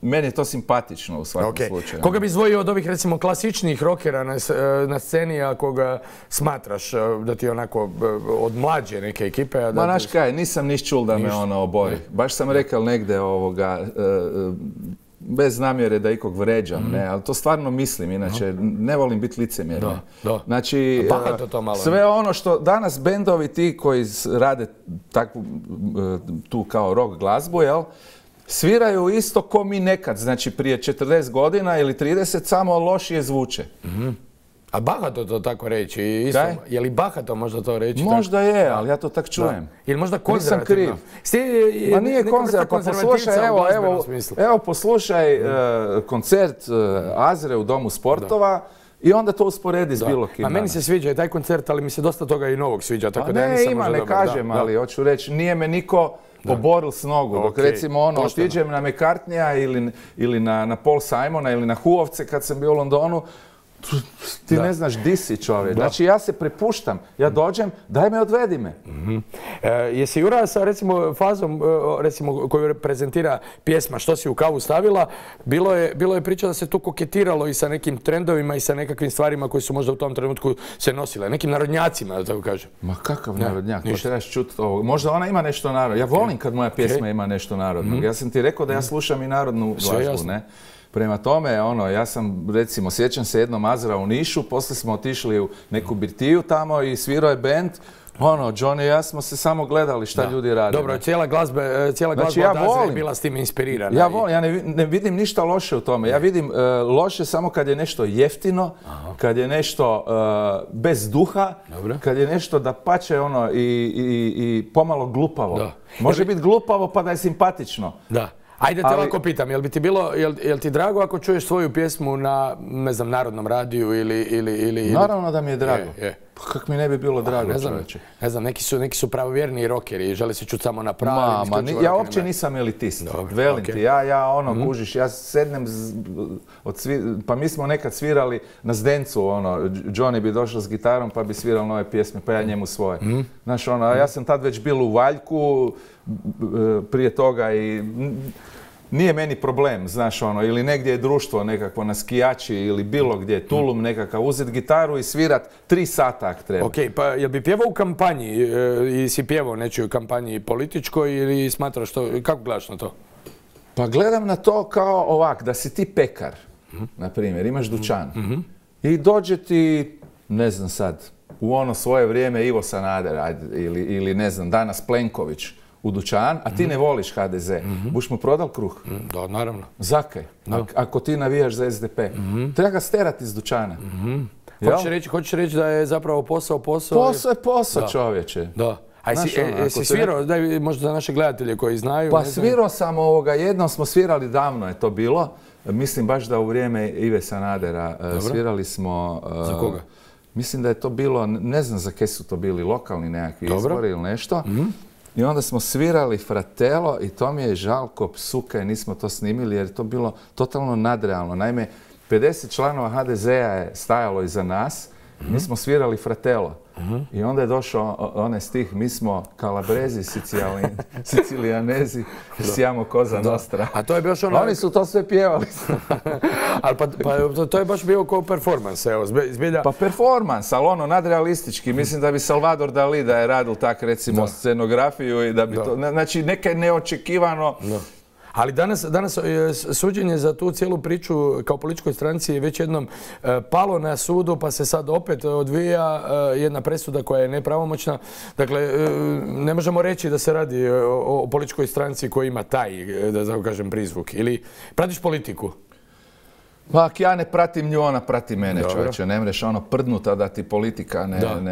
meni je to simpatično u svakom okay. slučaju. Koga bi izdvojio od ovih, recimo, klasičnijih rokera na, na sceni, a koga smatraš da ti je onako od mlađe neke ekipe? A da Ma, naš kaj, nisam niš čul da me ono obori. Baš sam rekao negde ovoga, bez namjere da ikog vređam, mm. ne, ali to stvarno mislim, inače no. ne volim biti licemjerni. Znači, sve ono što danas bendovi ti koji rade takvu, tu kao rock glazbu, jel, sviraju isto ko mi nekad, znači prije četrdeset godina ili trideset, samo lošije zvuče. Mm. A bahato to tako reći? Je li bahato možda to reći? Možda je, ali ja to tak čujem. Ili možda konzervativno? Ma nije konzervativno, pa poslušaj, evo, evo, evo poslušaj koncert Azre u Domu sportova i onda to usporedi s bilo kim. A meni se sviđa i taj koncert, ali mi se dosta toga i novog sviđa. Pa ne, ima, ne kažem, ali hoću reći, nije me niko poboril s nogu. Dok recimo ono, otiđem na McCartneya ili na Paul Simona ili na Huovce kad sam bio u Londonu, ti ne znaš di si, čovjek. Znači ja se prepuštam, ja dođem, daj me, odvedi me. Jesi Jura sa recimo fazom recimo koju prezentira pjesma Što si u kavu stavila, bilo je priča da se tu koketiralo i sa nekim trendovima i sa nekakvim stvarima koji su možda u tom trenutku se nosile, nekim narodnjacima, da tako kažem. Ma kakav narodnjak, ko trebaš čuti ovo. Možda ona ima nešto narodno. Ja volim kad moja pjesma ima nešto narodno. Ja sam ti rekao da ja slušam i narodnu glazbu, ne? Prema tome, ono, ja sam, recimo, sjećam se jednom Azra u Nišu, poslije smo otišli u neku birtiju tamo i svirao je bend. Ono, Johnny i ja smo se samo gledali šta ljudi rade. Dobro, cijela glazba od Azra je bila s tim inspirirana. Ja volim, ja ne vidim ništa loše u tome. Ja vidim loše samo kad je nešto jeftino, kad je nešto bez duha, kad je nešto da pače ono i pomalo glupavo. Može biti glupavo pa da je simpatično. Da. Ajde te ovako pitam, jel bi ti bilo, jel ti drago ako čuješ svoju pjesmu na, ne znam, narodnom radiju ili... Naravno da mi je drago. Pa kak mi ne bi bilo drago, čovječe? Ne znam, neki su pravovjerni rokeri i žele se čuti samo na pravi. Ja uopće nisam elitist, velim ti. Ja ono, kužiš, ja sednem, pa mi smo nekad svirali na Zdencu, ono, Johnny bi došao s gitarom pa bi svirao nove pjesme, pa ja njemu svoje. Znaš, ono, ja sam tad već bil u Valjku prije toga i nije meni problem, znaš ono, ili negdje je društvo nekako na skijači ili bilo gdje, Tulum nekakav, uzeti gitaru i svirat tri sata ako treba. Ok, pa jel bi pjevao u kampanji i si pjevao nečoj kampanji političkoj ili smatraš to, kako gledaš na to? Pa gledam na to kao ovak, da si ti pekar, na primjer, imaš dućan i dođe ti, ne znam sad, u ono svoje vrijeme Ivo Sanader ili ne znam, danas Plenković u dućan, a ti ne voliš ha de ze, buš mu prodal kruh? Da, naravno. Zakaj? Ako ti navijaš za es de pe. Treba ga sterati iz dućana. Hoćeš reći da je zapravo posao posao? Posao je posao, čovječe. Da. A jesi svirao, daj možda za naše gledatelje koji znaju? Pa svirao sam ovoga, jednom smo svirali, davno je to bilo. Mislim baš da u vrijeme Ive Sanadera svirali smo... Za koga? Mislim da je to bilo, ne znam za kaj su to bili, lokalni nekakvi izbori ili nešto. I onda smo svirali Fratello i to mi je žalko psuka i nismo to snimili jer je to bilo totalno nadrealno. Naime, pedeset članova ha de zea je stajalo iza nas, mi smo svirali Fratello. I onda je došao onaj stih, mi smo Kalabrezi, Sicilijanezi, siamo Cosa Nostra. A to je baš ono... Oni su to sve pjevali. Ali pa to je baš bio kao performans, evo, zbilja... Pa performans, ali ono, nadrealistički. Mislim da bi Salvador Dali da je radil tak, recimo, scenografiju i da bi to... Znači, neke neočekivano... Ali danas, danas suđenje za tu cijelu priču kao političkoj stranci je već jednom palo na sudu, pa se sad opet odvija jedna presuda koja je nepravomoćna. Dakle, ne možemo reći da se radi o političkoj stranci koja ima taj, da tako kažem, prizvuk. Ili pratiš politiku? Pa ako ja ne pratim nju, ona prati mene, čovječe. Ne mreš ono prdnuta da ti politika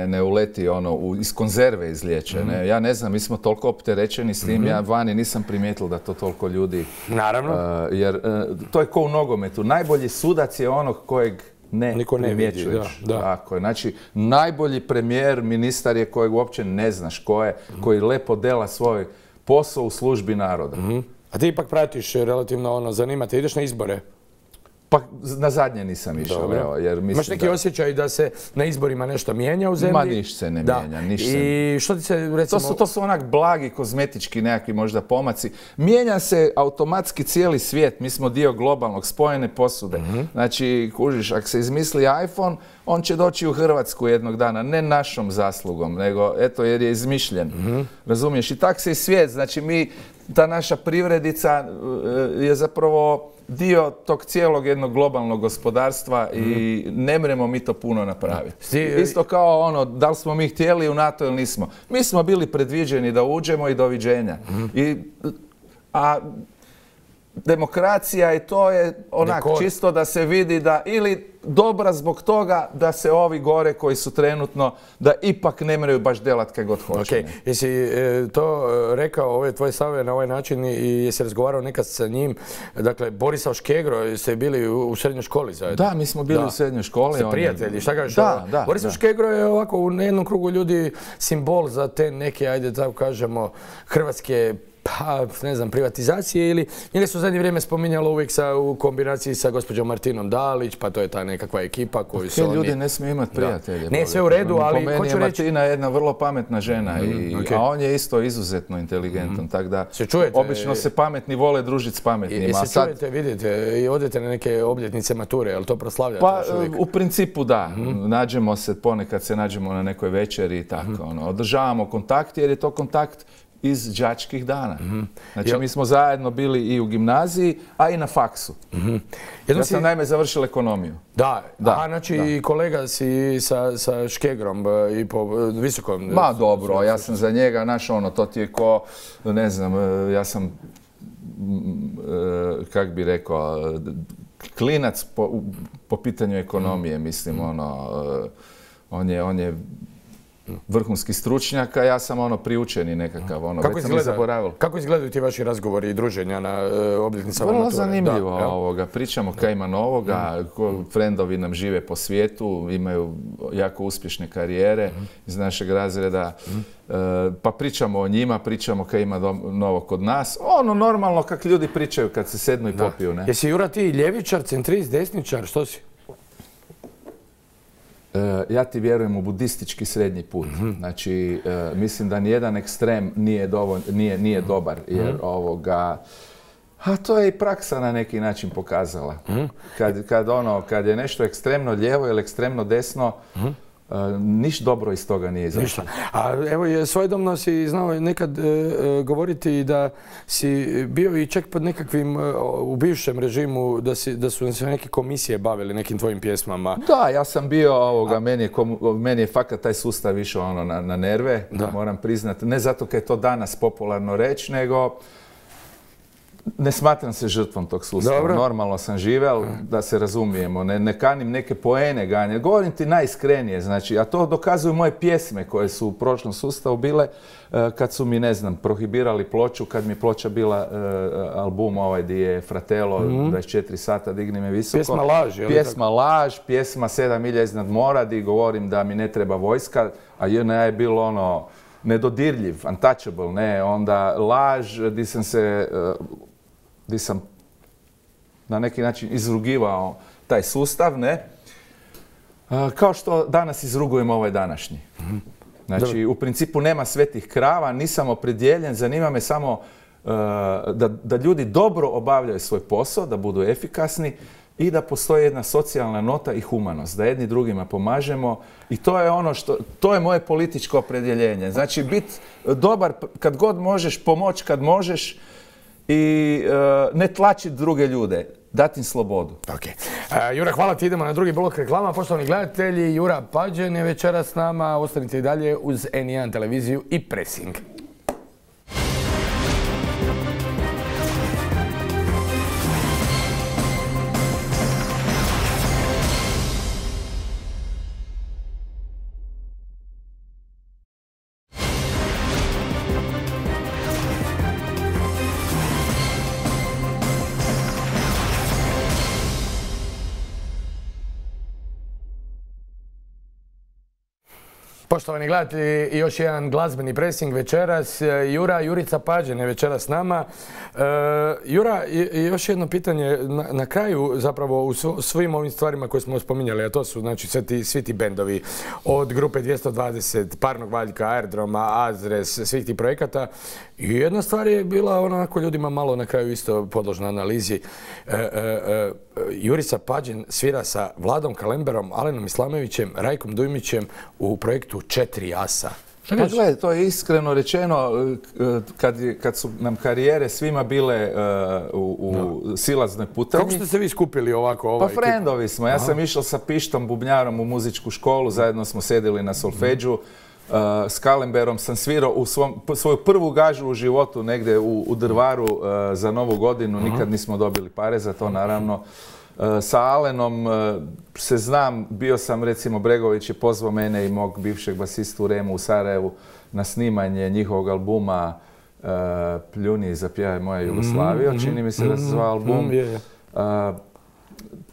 ne uleti iz konzerve izliječe. Ja ne znam, mi smo toliko opterećeni s tim, ja vani nisam primijetila da to toliko ljudi... Naravno. Jer to je ko u nogometu. Najbolji sudac je onog kojeg ne primjećuješ. Tako je. Znači, najbolji premijer, ministar je kojeg uopće ne znaš ko je, koji lepo dela svoj posao u službi naroda. A ti ipak pratiš relativno ono, zanima te, ideš na izbore? Pa na zadnje nisam išao, evo, jer mislim Imaš neki da... osjećaj da se na izborima nešto mijenja u zemlji? Ma niš se ne da. mijenja, niš se... I što ti se, recimo... To su, to su onak blagi, kozmetički nekakvi možda pomaci. Mijenja se automatski cijeli svijet, mi smo dio globalnog, spojene posude. Mm-hmm. Znači, kužiš, ako se izmisli iPhone, on će doći u Hrvatsku jednog dana, ne našom zaslugom, nego, eto, jer je izmišljen. Mm-hmm. Razumiješ? I tak se i svijet, znači mi, ta naša privredica je zapravo dio tog cijelog jednog globalnog gospodarstva mm-hmm. i ne mremo mi to puno napraviti. Sti... Isto kao ono, da li smo mi htjeli u NATO ili nismo. Mi smo bili predviđeni da uđemo i doviđenja. Mm-hmm. I, a demokracija i to je onak Dekor. čisto da se vidi da ili dobra zbog toga da se ovi gore koji su trenutno, da ipak ne moraju baš delat kaj god hoće. Okay. Jesi e, to rekao, ove tvoje stavove na ovaj način i jesi razgovarao nekad sa njim? Dakle, Borislav Škegro, ste bili u, u srednjoj školi zajedno? Da, mi smo bili da. u srednjoj školi. Ste prijatelji, šta kažeš? Da, da. Borislav da. Škegro je ovako u jednom krugu ljudi simbol za te neke, ajde tako kažemo, hrvatske pa, ne znam, privatizacije ili njega su u zadnje vrijeme spominjalo uvijek sa, u kombinaciji sa gospođom Martinom Dalić, pa to je ta nekakva ekipa koju su oni... Ljudi ne smiju imati prijatelje. Ne, sve u redu, ali hoću reći... Martina je jedna vrlo pametna žena, mm, i, okay. a on je isto izuzetno inteligentan, mm. tako da se čujete, obično se pametni vole družiti s pametnima. I se sad... čujete, vidite, i odete na neke obljetnice mature, jel to proslavljate? Pa, u principu da. Mm. Nađemo se, ponekad se nađemo na nekoj večeri i tako. Mm. Ono, održavamo kontakt jer je to kontakt iz đačkih dana. Mm-hmm. Znači, Jel... mi smo zajedno bili i u gimnaziji, a i na faksu. Mm-hmm. Ja sam si... naime završil ekonomiju. Da, da. Aha, znači da. I kolega si sa, sa Škegrom i po visokom... Ma dobro, ja sam za njega, znaš ono, to ti je ko, ne znam, ja sam, kak bi rekao, klinac po, po pitanju ekonomije, mislim, ono, on je, on je vrhunski stručnjak, a ja sam ono priučeni nekakav, ono, kako već izgleda, sam zaboravil. Kako izgledaju ti vaši razgovori i druženja na uh, obljetnicama mature? Vrlo zanimljivo da, ovoga, pričamo kaj ima novoga, mm. frendovi nam žive po svijetu, imaju jako uspješne karijere mm. iz našeg razreda, mm. uh, pa pričamo o njima, pričamo kaj ima do, novo kod nas, ono normalno kak ljudi pričaju kad se sednu i da. popiju, ne? Jesi, Jura, ti ljevičar, centrist, desničar, što si? Ja ti vjerujem u budistički srednji put. Mm-hmm. Znači, uh, mislim da nijedan ekstrem nije, dovolj, nije, nije dobar, jer mm-hmm. ovoga... A to je i praksa na neki način pokazala. Mm-hmm. Kad, kad, ono, kad je nešto ekstremno lijevo ili ekstremno desno, mm-hmm. Uh, niš dobro iz toga nije izašlo. A evo, svojedobno si znao nekad uh, govoriti da si bio i čak pod nekakvim, uh, u bivšem režimu, da, si, da su se neke komisije bavili nekim tvojim pjesmama. Da, ja sam bio ovoga, meni je, meni je fakat taj sustav išao ono na, na nerve, da. moram priznati. Ne zato kad je to danas popularno reći, nego ne smatram se žrtvom tog sustava. Dobro. Normalno sam živel, da se razumijemo. Ne, ne kanim neke poene ganjati. Govorim ti najiskrenije, znači, a to dokazuju moje pjesme koje su u prošlom sustavu bile uh, kad su mi, ne znam, prohibirali ploču, kad mi ploča bila uh, album ovaj di je Fratello, mm-hmm. dvadeset četiri sata, digni me visoko. Pjesma Laž, je li Pjesma tako? Laž, pjesma Sedam milja iznad mora, di govorim da mi ne treba vojska, a J N A je bilo ono nedodirljiv, untouchable, ne, onda Laž, di sam se... Uh, gdje sam na neki način izrugivao taj sustav, ne? Kao što danas izrugujem ovaj današnji. Znači, Dobre. u principu nema svetih krava, nisam opredjeljen, zanima me samo uh, da, da ljudi dobro obavljaju svoj posao, da budu efikasni i da postoji jedna socijalna nota i humanost, da jedni drugima pomažemo i to je ono što, to je moje političko opredjeljenje. Znači, biti dobar kad god možeš, pomoć kad možeš, i uh, ne tlačiti druge ljude, dati im slobodu. Okay. Uh, Jura, hvala ti, idemo na drugi blok reklama. Poštovani gledatelji, Jura Pađen je večeras s nama. Ostanite i dalje uz N jedan televiziju i Pressing. Poštovani gledatelji, još jedan glazbeni pressing večeras. Jura, Jurica Pađen je večeras s nama. E, Jura, još jedno pitanje na, na kraju, zapravo u svim ovim stvarima koje smo spominjali, a to su znači svi ti, svi ti bendovi, od grupe dvjesto dvadeset, Parnog Valjka, Aerodroma, Azres, svih tih projekata. I jedna stvar je bila onako ljudima malo na kraju isto podložna analizi. E, e, e, Jurica Pađen svira sa Vladom Kalemberom, Alenom Islamovićem, Rajkom Dujmićem u projektu Četiri asa. Pa gledaj, to je iskreno rečeno, kad, kad su nam karijere svima bile uh, u, u no. silaznoj putanji. Kako ste se vi skupili ovako? Ovaj pa frendovi smo. Ja Aha. sam išao sa Pištom Bubnjarom u muzičku školu, zajedno smo sedjeli na solfeđu. Uh, s Kalemberom sam svirao u svom, svoju prvu gažu u životu negdje u, u Drvaru uh, za Novu godinu. Aha. Nikad nismo dobili pare za to, naravno. Uh, sa Alenom uh, se znam, bio sam, recimo, Bregović je pozvao mene i mog bivšeg basistu Remu u Sarajevu na snimanje njihovog albuma uh, Pljuni i zapjevaj moja Jugoslavija. Mm, čini mi se da se zvao album. Mm, yeah. uh,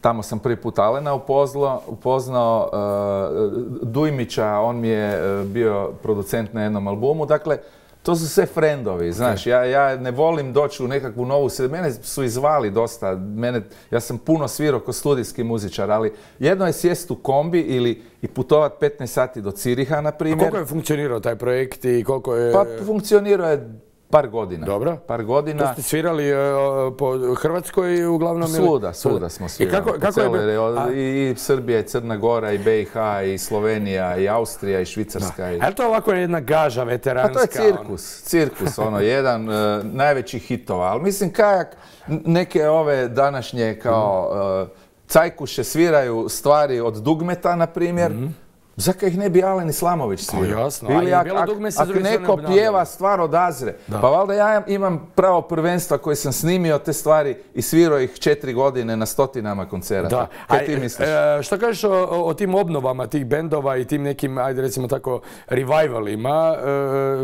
Tamo sam prvi put Alena upoznao, upoznao uh, Dujmića, on mi je uh, bio producent na jednom albumu. Dakle, to su sve frendovi, znaš, ja, ja ne volim doći u nekakvu novu sredinu. Mene su izvali dosta, mene, ja sam puno svirao kao studijski muzičar, ali jedno je sjest u kombi ili i putovat petnaest sati do Ciriha, na primjer. A koliko je funkcionirao taj projekt i koliko je... Pa funkcionirao je par godina. Dobro. Par godina. To ste svirali uh, po Hrvatskoj uglavnom? Svuda, svuda smo svirali. I kako, kako je bilo? A... I Srbija, i Crna Gora, i B i H, i Slovenija, i Austrija, i Švicarska. No. I... Ali to ovako je jedna gaža veteranska? Pa to je cirkus. On... Cirkus, ono, jedan uh, najvećih hitova. Ali mislim, kajak, neke ove današnje kao uh, cajkuše sviraju stvari od dugmeta, na primjer. Mm-hmm. Zaka ih ne bi Alen Islamović svirao? Jasno, ili ak, ak, ak neko pjeva stvar od Azre, da. Pa valjda ja imam pravo prvenstva koje sam snimio te stvari i svirao ih četiri godine na stotinama koncerata. Da. Kaj ti misliš? E, što kažeš o, o tim obnovama tih bendova i tim nekim, ajde recimo tako, revivalima?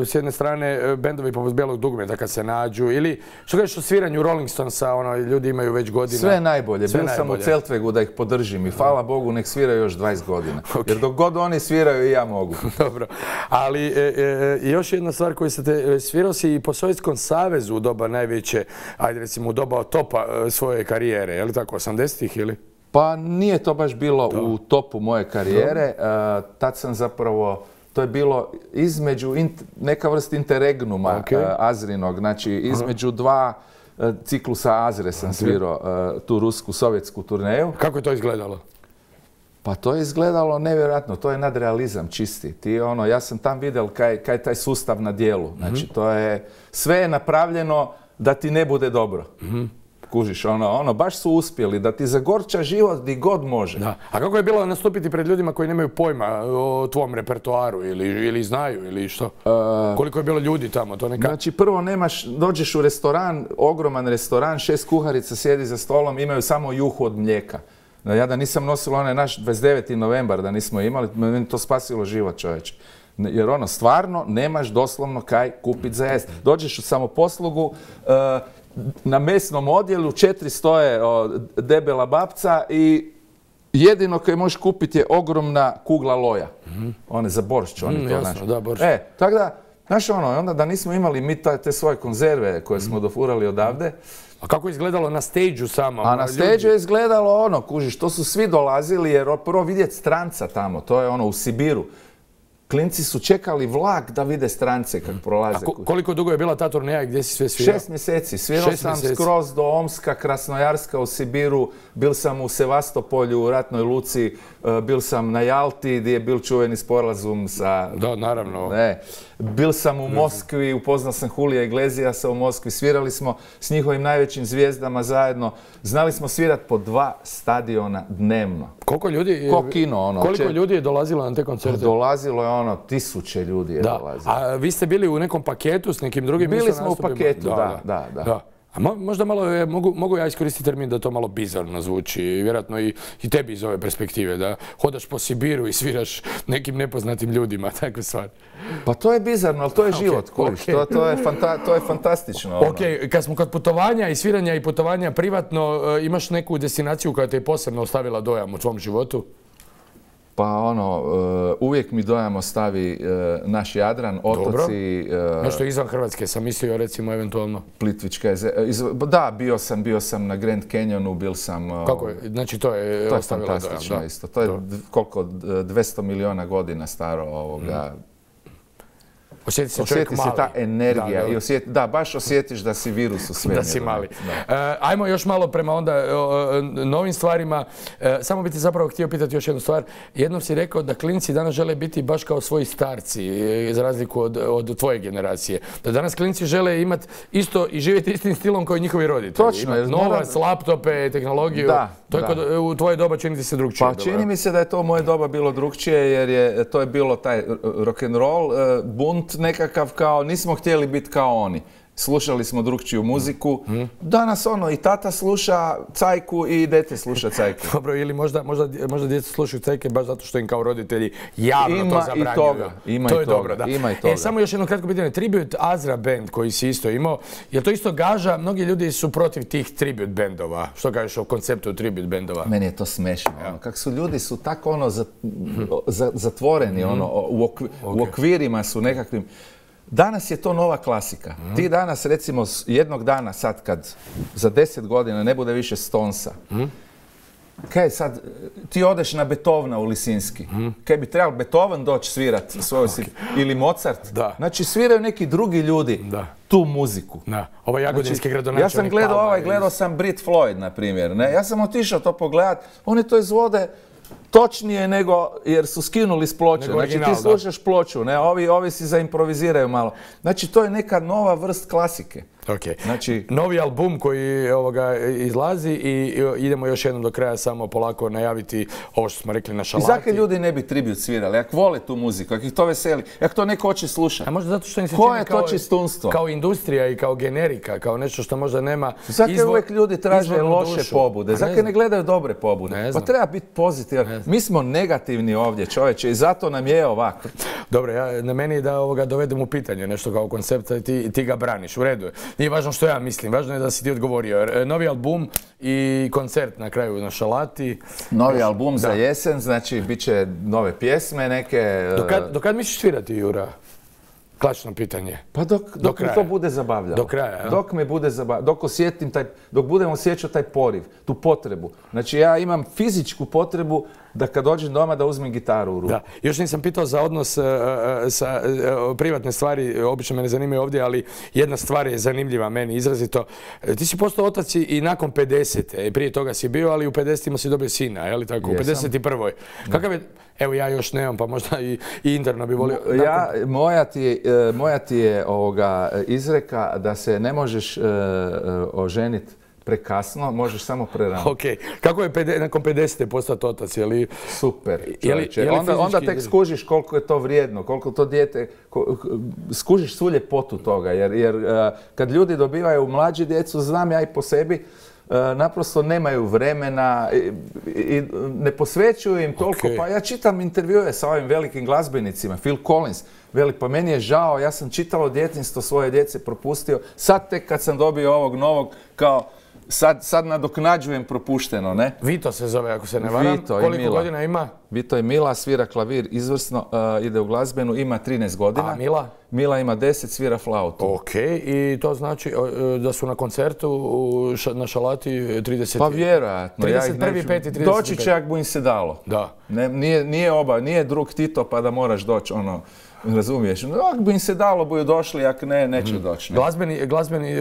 E, s jedne strane, bendovi poput Bijelog dugmeta kad se nađu, ili što kažeš o sviranju Rolling Stonesa, ono, ljudi imaju već godina? Sve najbolje. Sve Bil najbolje. sam u Celtvegu da ih podržim i hvala Bogu nek sviraju još dvadeset godina. Okay. Jer dok god oni sviraju i ja mogu. Dobro. Ali e, e, još jedna stvar koju ste te, svirao si i po Sovjetskom savezu u doba najveće, ajde recimo u doba topa e, svoje karijere, je li tako, osamdesetih ili? Pa nije to baš bilo to. u topu moje karijere. E, tad sam zapravo, to je bilo između int, neka vrsta interregnuma okay. e, Azrinog, znači između Aha. dva e, ciklusa Azre sam okay. svirao e, tu rusku sovjetsku turneju. Kako je to izgledalo? Pa to je izgledalo nevjerojatno, to je nadrealizam čisti. Ti, ono, ja sam tam vidjel kaj, kaj taj sustav na dijelu. Znači, to je, sve je napravljeno da ti ne bude dobro. Mm-hmm. Kužiš, ono, ono, baš su uspjeli da ti zagorča život di god može. Da. A kako je bilo nastupiti pred ljudima koji nemaju pojma o tvom repertoaru ili, ili znaju ili što? Uh, Koliko je bilo ljudi tamo? To neka... Znači, prvo nemaš, dođeš u restoran, ogroman restoran, šest kuharica sjedi za stolom, imaju samo juhu od mlijeka. Ja da nisam nosila onaj naš dvadeset deveti novembar, da nismo imali, meni to spasilo život, čovječe. Jer ono, stvarno nemaš doslovno kaj kupit za jest. Dođeš u samoposlugu, uh, na mesnom odjelu četiri stoje o, debela babca i jedino kaj možeš kupiti je ogromna kugla loja. Mm-hmm. One za boršć, oni mm, to jasno, da, boršć. E, tako da, znaš ono, onda da nismo imali mi te svoje konzerve koje smo dofurali odavde. A kako je izgledalo na stage-u samo? A na stage-u je izgledalo ono, kužiš, to su svi dolazili jer prvo vidjeti stranca tamo, to je ono u Sibiru. Klinci su čekali vlak da vide strance kad prolaze. A ko, koliko dugo je bila ta turneja i gdje si sve svirao? Šest mjeseci. Svirao sam mjeseci. skroz do Omska, Krasnojarska u Sibiru, bil sam u Sevastopolju, u Ratnoj Luci, bil sam na Jalti gdje je bil čuveni sporazum sa... Da, naravno. Ne. Bil sam u Moskvi, upoznao sam Julija Iglesiasa u Moskvi, svirali smo s njihovim najvećim zvijezdama zajedno. Znali smo svirat po dva stadiona dnevno. Koliko ljudi, Ko kino, ono. Koliko če... ljudi je dolazilo na te koncerte? Dolazilo je ono, tisuće ljudi je da. dolazilo. A vi ste bili u nekom paketu s nekim drugim? Bili smo u paketu, da, da, da. da. da. A mo, možda malo, je, mogu, mogu ja iskoristiti termin da to malo bizarno zvuči, vjerojatno i, i tebi iz ove perspektive, da hodaš po Sibiru i sviraš nekim nepoznatim ljudima, takve stvari. Pa to je bizarno, ali to je život, okay, okay. To, to, je fanta, to je fantastično. Ok, ono. Kad smo kod putovanja i sviranja i putovanja privatno, imaš neku destinaciju koja te je posebno ostavila dojam u tvom životu? Pa ono, uvijek mi dojam ostavi naš Jadran, otoci... Dobro. Nešto izvan Hrvatske sam mislio, recimo, eventualno. Plitvička jezera. Da, bio sam, bio sam na Grand Canyonu, bil sam... Kako je? Znači to je ostavilo dojam. To je fantastično isto. To je koliko, dvjesto miliona godina staro ovoga... Osjeti se čovjek mali. Osjeti se ta energija. Da, i osjeti, da, baš osjetiš da si virus u svemiru. Da si mali. Da. Uh, ajmo još malo prema onda uh, novim stvarima. Uh, samo bi ti zapravo htio pitati još jednu stvar. Jednom si rekao da klinci danas žele biti baš kao svoji starci, za razliku od, od tvoje generacije. Da danas klinci žele imati isto i živjeti istim stilom kao i njihovi roditelji. Točno. Imati novac, laptope, tehnologiju. Da, to je da. Kod, u tvoje doba čini ti se drugčije. Pa dobro. Čini mi se da je to u moje doba bilo drugčije jer je to je bilo taj rock'n'roll, bunt nekakav kao nismo htjeli biti kao oni. Slušali smo drugčiju muziku. Mm. Danas ono, i tata sluša cajku i dete sluša cajku. Dobro, ili možda, možda, možda djeca slušaju cajke baš zato što im kao roditelji javno ima to zabranjuju. I toga. Ima to i je toga. dobro, da. Ima i toga. E, samo još jedno kratko pitanje. Tribute Azra band koji si isto imao, je to isto gaža? Mnogi ljudi su protiv tih tribute bandova. Što kažeš o konceptu tribute bandova? Meni je to smešno. Ja. Ono, kako su ljudi su tako ono za, za, zatvoreni, mm. ono, u, okvir, okay. u okvirima su nekakvim. Danas je to nova klasika. Mm. Ti danas, recimo, jednog dana sad kad za deset godina ne bude više Stonesa, mm. kaj sad, ti odeš na Beethovena u Lisinski, mm. kaj bi trebalo Beethoven doći svirat svoju okay. ili Mozart. Da. Znači, sviraju neki drugi ljudi da. tu muziku. Da. Ovaj jagodinski znači, gradonačelnik. Ja sam gledao ovaj, gledao sam Brit Floyd, na primjer. Ne? Ja sam otišao to pogledat, oni to izvode točnije nego, jer su skinuli s ploče. Nego znači original, ti slušaš da. ploču, ne, ovi, ovi si zaimproviziraju malo. Znači to je neka nova vrst klasike. Okay. Znači, novi album koji ovoga izlazi i idemo još jednom do kraja samo polako najaviti ovo što smo rekli na šalati. I zakaj ljudi ne bi tribut svirali? Jak vole tu muziku, jak ih to veseli, jak to neko hoće slušati. A možda zato što im se čini kao, kao industrija i kao generika, kao nešto što možda nema zakaj izvor, uvijek ljudi traže loše dušu. pobude? Zakaj ne, ne gledaju dobre pobude? Ne pa treba biti pozitivan. Mi smo negativni ovdje, čovječe, i zato nam je ovako. Dobro, ja, na meni je da ovoga dovedem u pitanje nešto kao koncept, ti, ti ga braniš, u redu je. Nije važno što ja mislim, važno je da si ti odgovorio. Novi album i koncert na kraju na šalati. Novi album da. za jesen, znači bit će nove pjesme neke. Do kad, do kad misliš svirati, Jura? Klačno pitanje. Pa dok, dok mi to bude zabavljalo. Do kraja, ja? Dok me bude zabavljalo, dok osjetim taj, dok budem osjećao taj poriv, tu potrebu. Znači ja imam fizičku potrebu da kad dođem doma da uzmem gitaru u ruku. Da. Još nisam pitao za odnos uh, sa uh, privatne stvari, obično mene zanimaju ovdje, ali jedna stvar je zanimljiva meni izrazito. Ti si postao otac i nakon pedesete. Prije toga si bio, ali u pedesetima si dobio sina, je li tako? U pedeset prvoj. Kakav je, evo ja još nemam, pa možda i, i interno bi volio. Nakon... Ja, moja ti je, moja ti je ovoga izreka da se ne možeš uh, oženiti prekasno, možeš samo prerano. Ok. Kako je pede, nakon pedesete postati otac? Je li... Super, čovječe. Je li, je li onda, onda tek skužiš koliko je to vrijedno, koliko to dijete... Ko, skužiš svu ljepotu toga, jer, jer uh, kad ljudi dobivaju mlađi djecu, znam ja i po sebi, uh, naprosto nemaju vremena i, i ne posvećuju im toliko. Okay. Pa ja čitam intervjue sa ovim velikim glazbenicima, Phil Collins, veli, pa meni je žao, ja sam čitalo djetinjstvo svoje djece propustio, sad tek kad sam dobio ovog novog, kao, Sad, sad nadoknađujem propušteno, ne? Vito se zove, ako se ne varam. Vito Koliko i Mila. godina ima? Vito i Mila, svira klavir izvrsno, uh, ide u glazbenu, ima trinaest godina. A Mila? Mila ima deset, svira flautu. Ok, i to znači uh, da su na koncertu uh, ša, na šalati trideset... Pa vjerojatno. trideset prvi, peti, trideset peti. Doći će ako bu im se dalo. Da. Ne, nije, nije oba, nije drug Tito pa da moraš doći, ono... Razumiješ? No, ako bi im se dalo, buju došli, ako ne, neće mm. doći. Ne. Glazbeni, glazbeni,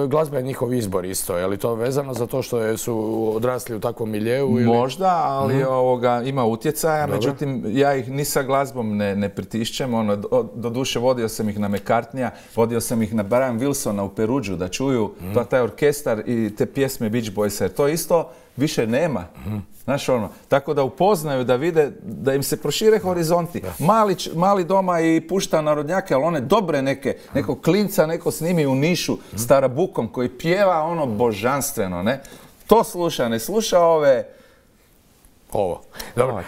glazba je njihov izbor isto, je li to vezano za to što je, su odrasli u takvom miljeu? Ili... Možda, ali mm. ovoga, ima utjecaja, Dobre. međutim, ja ih ni sa glazbom ne, ne pritišćem. Ono, do, do duše vodio sam ih na McCartneya, vodio sam ih na Brian Wilsona u Peruđu da čuju mm. to, taj orkestar i te pjesme Beach Boysa. To isto više nema. Mm. Znaš ono, tako da upoznaju, da vide, da im se prošire horizonti. Mali, mali doma i pušta narodnjake, ali one dobre neke, neko klinca, neko snimi u Nišu s tarabukom koji pjeva ono božanstveno, ne? To sluša, ne sluša ove Ovo. Dobro.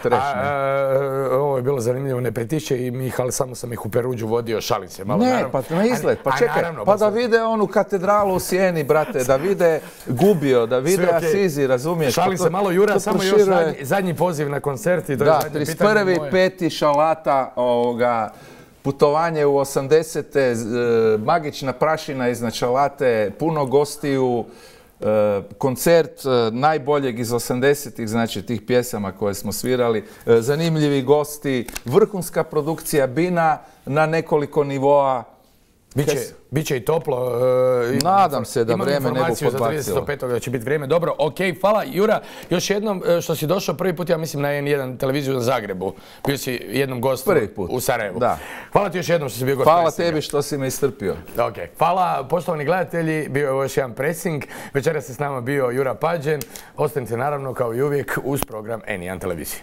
Ovo je bilo zanimljivo, ne pritišće i Mihal, samo sam ih u Peruđu vodio, šalim se malo. Ne, pa na izgled, pa čekaj, pa da vide onu katedralu u Sjeni, brate, da vide Gubio, da vide Asizi, razumiješ? Šalim se malo, Jura, samo još zadnji poziv na koncert i to je zadnje pitanje moje. Da, trideset prvi peti Šalata, putovanje u osamdesete, magična prašina iznad Šalate, puno gostiju, koncert najboljeg iz osamdesetih, znači tih pjesama koje smo svirali, zanimljivi gosti, vrhunska produkcija bina na nekoliko nivoa. Biće i toplo. Nadam se da vreme ne bu podbacilo. Imam informaciju za trideset petog da će biti vrijeme. Dobro, ok, hvala. Jura, još jednom što si došao prvi put, ja mislim, na en jedan televiziju na Zagrebu. Bio si jednom gostu u Sarajevu. Hvala ti još jednom što si bio gost. Hvala tebi što si me istrpio. Ok, hvala poštovani gledatelji. Bio je ovo još jedan pressing. Večeras je s nama bio Jura Pađen. Ostanite naravno kao i uvijek uz program en jedan televizije.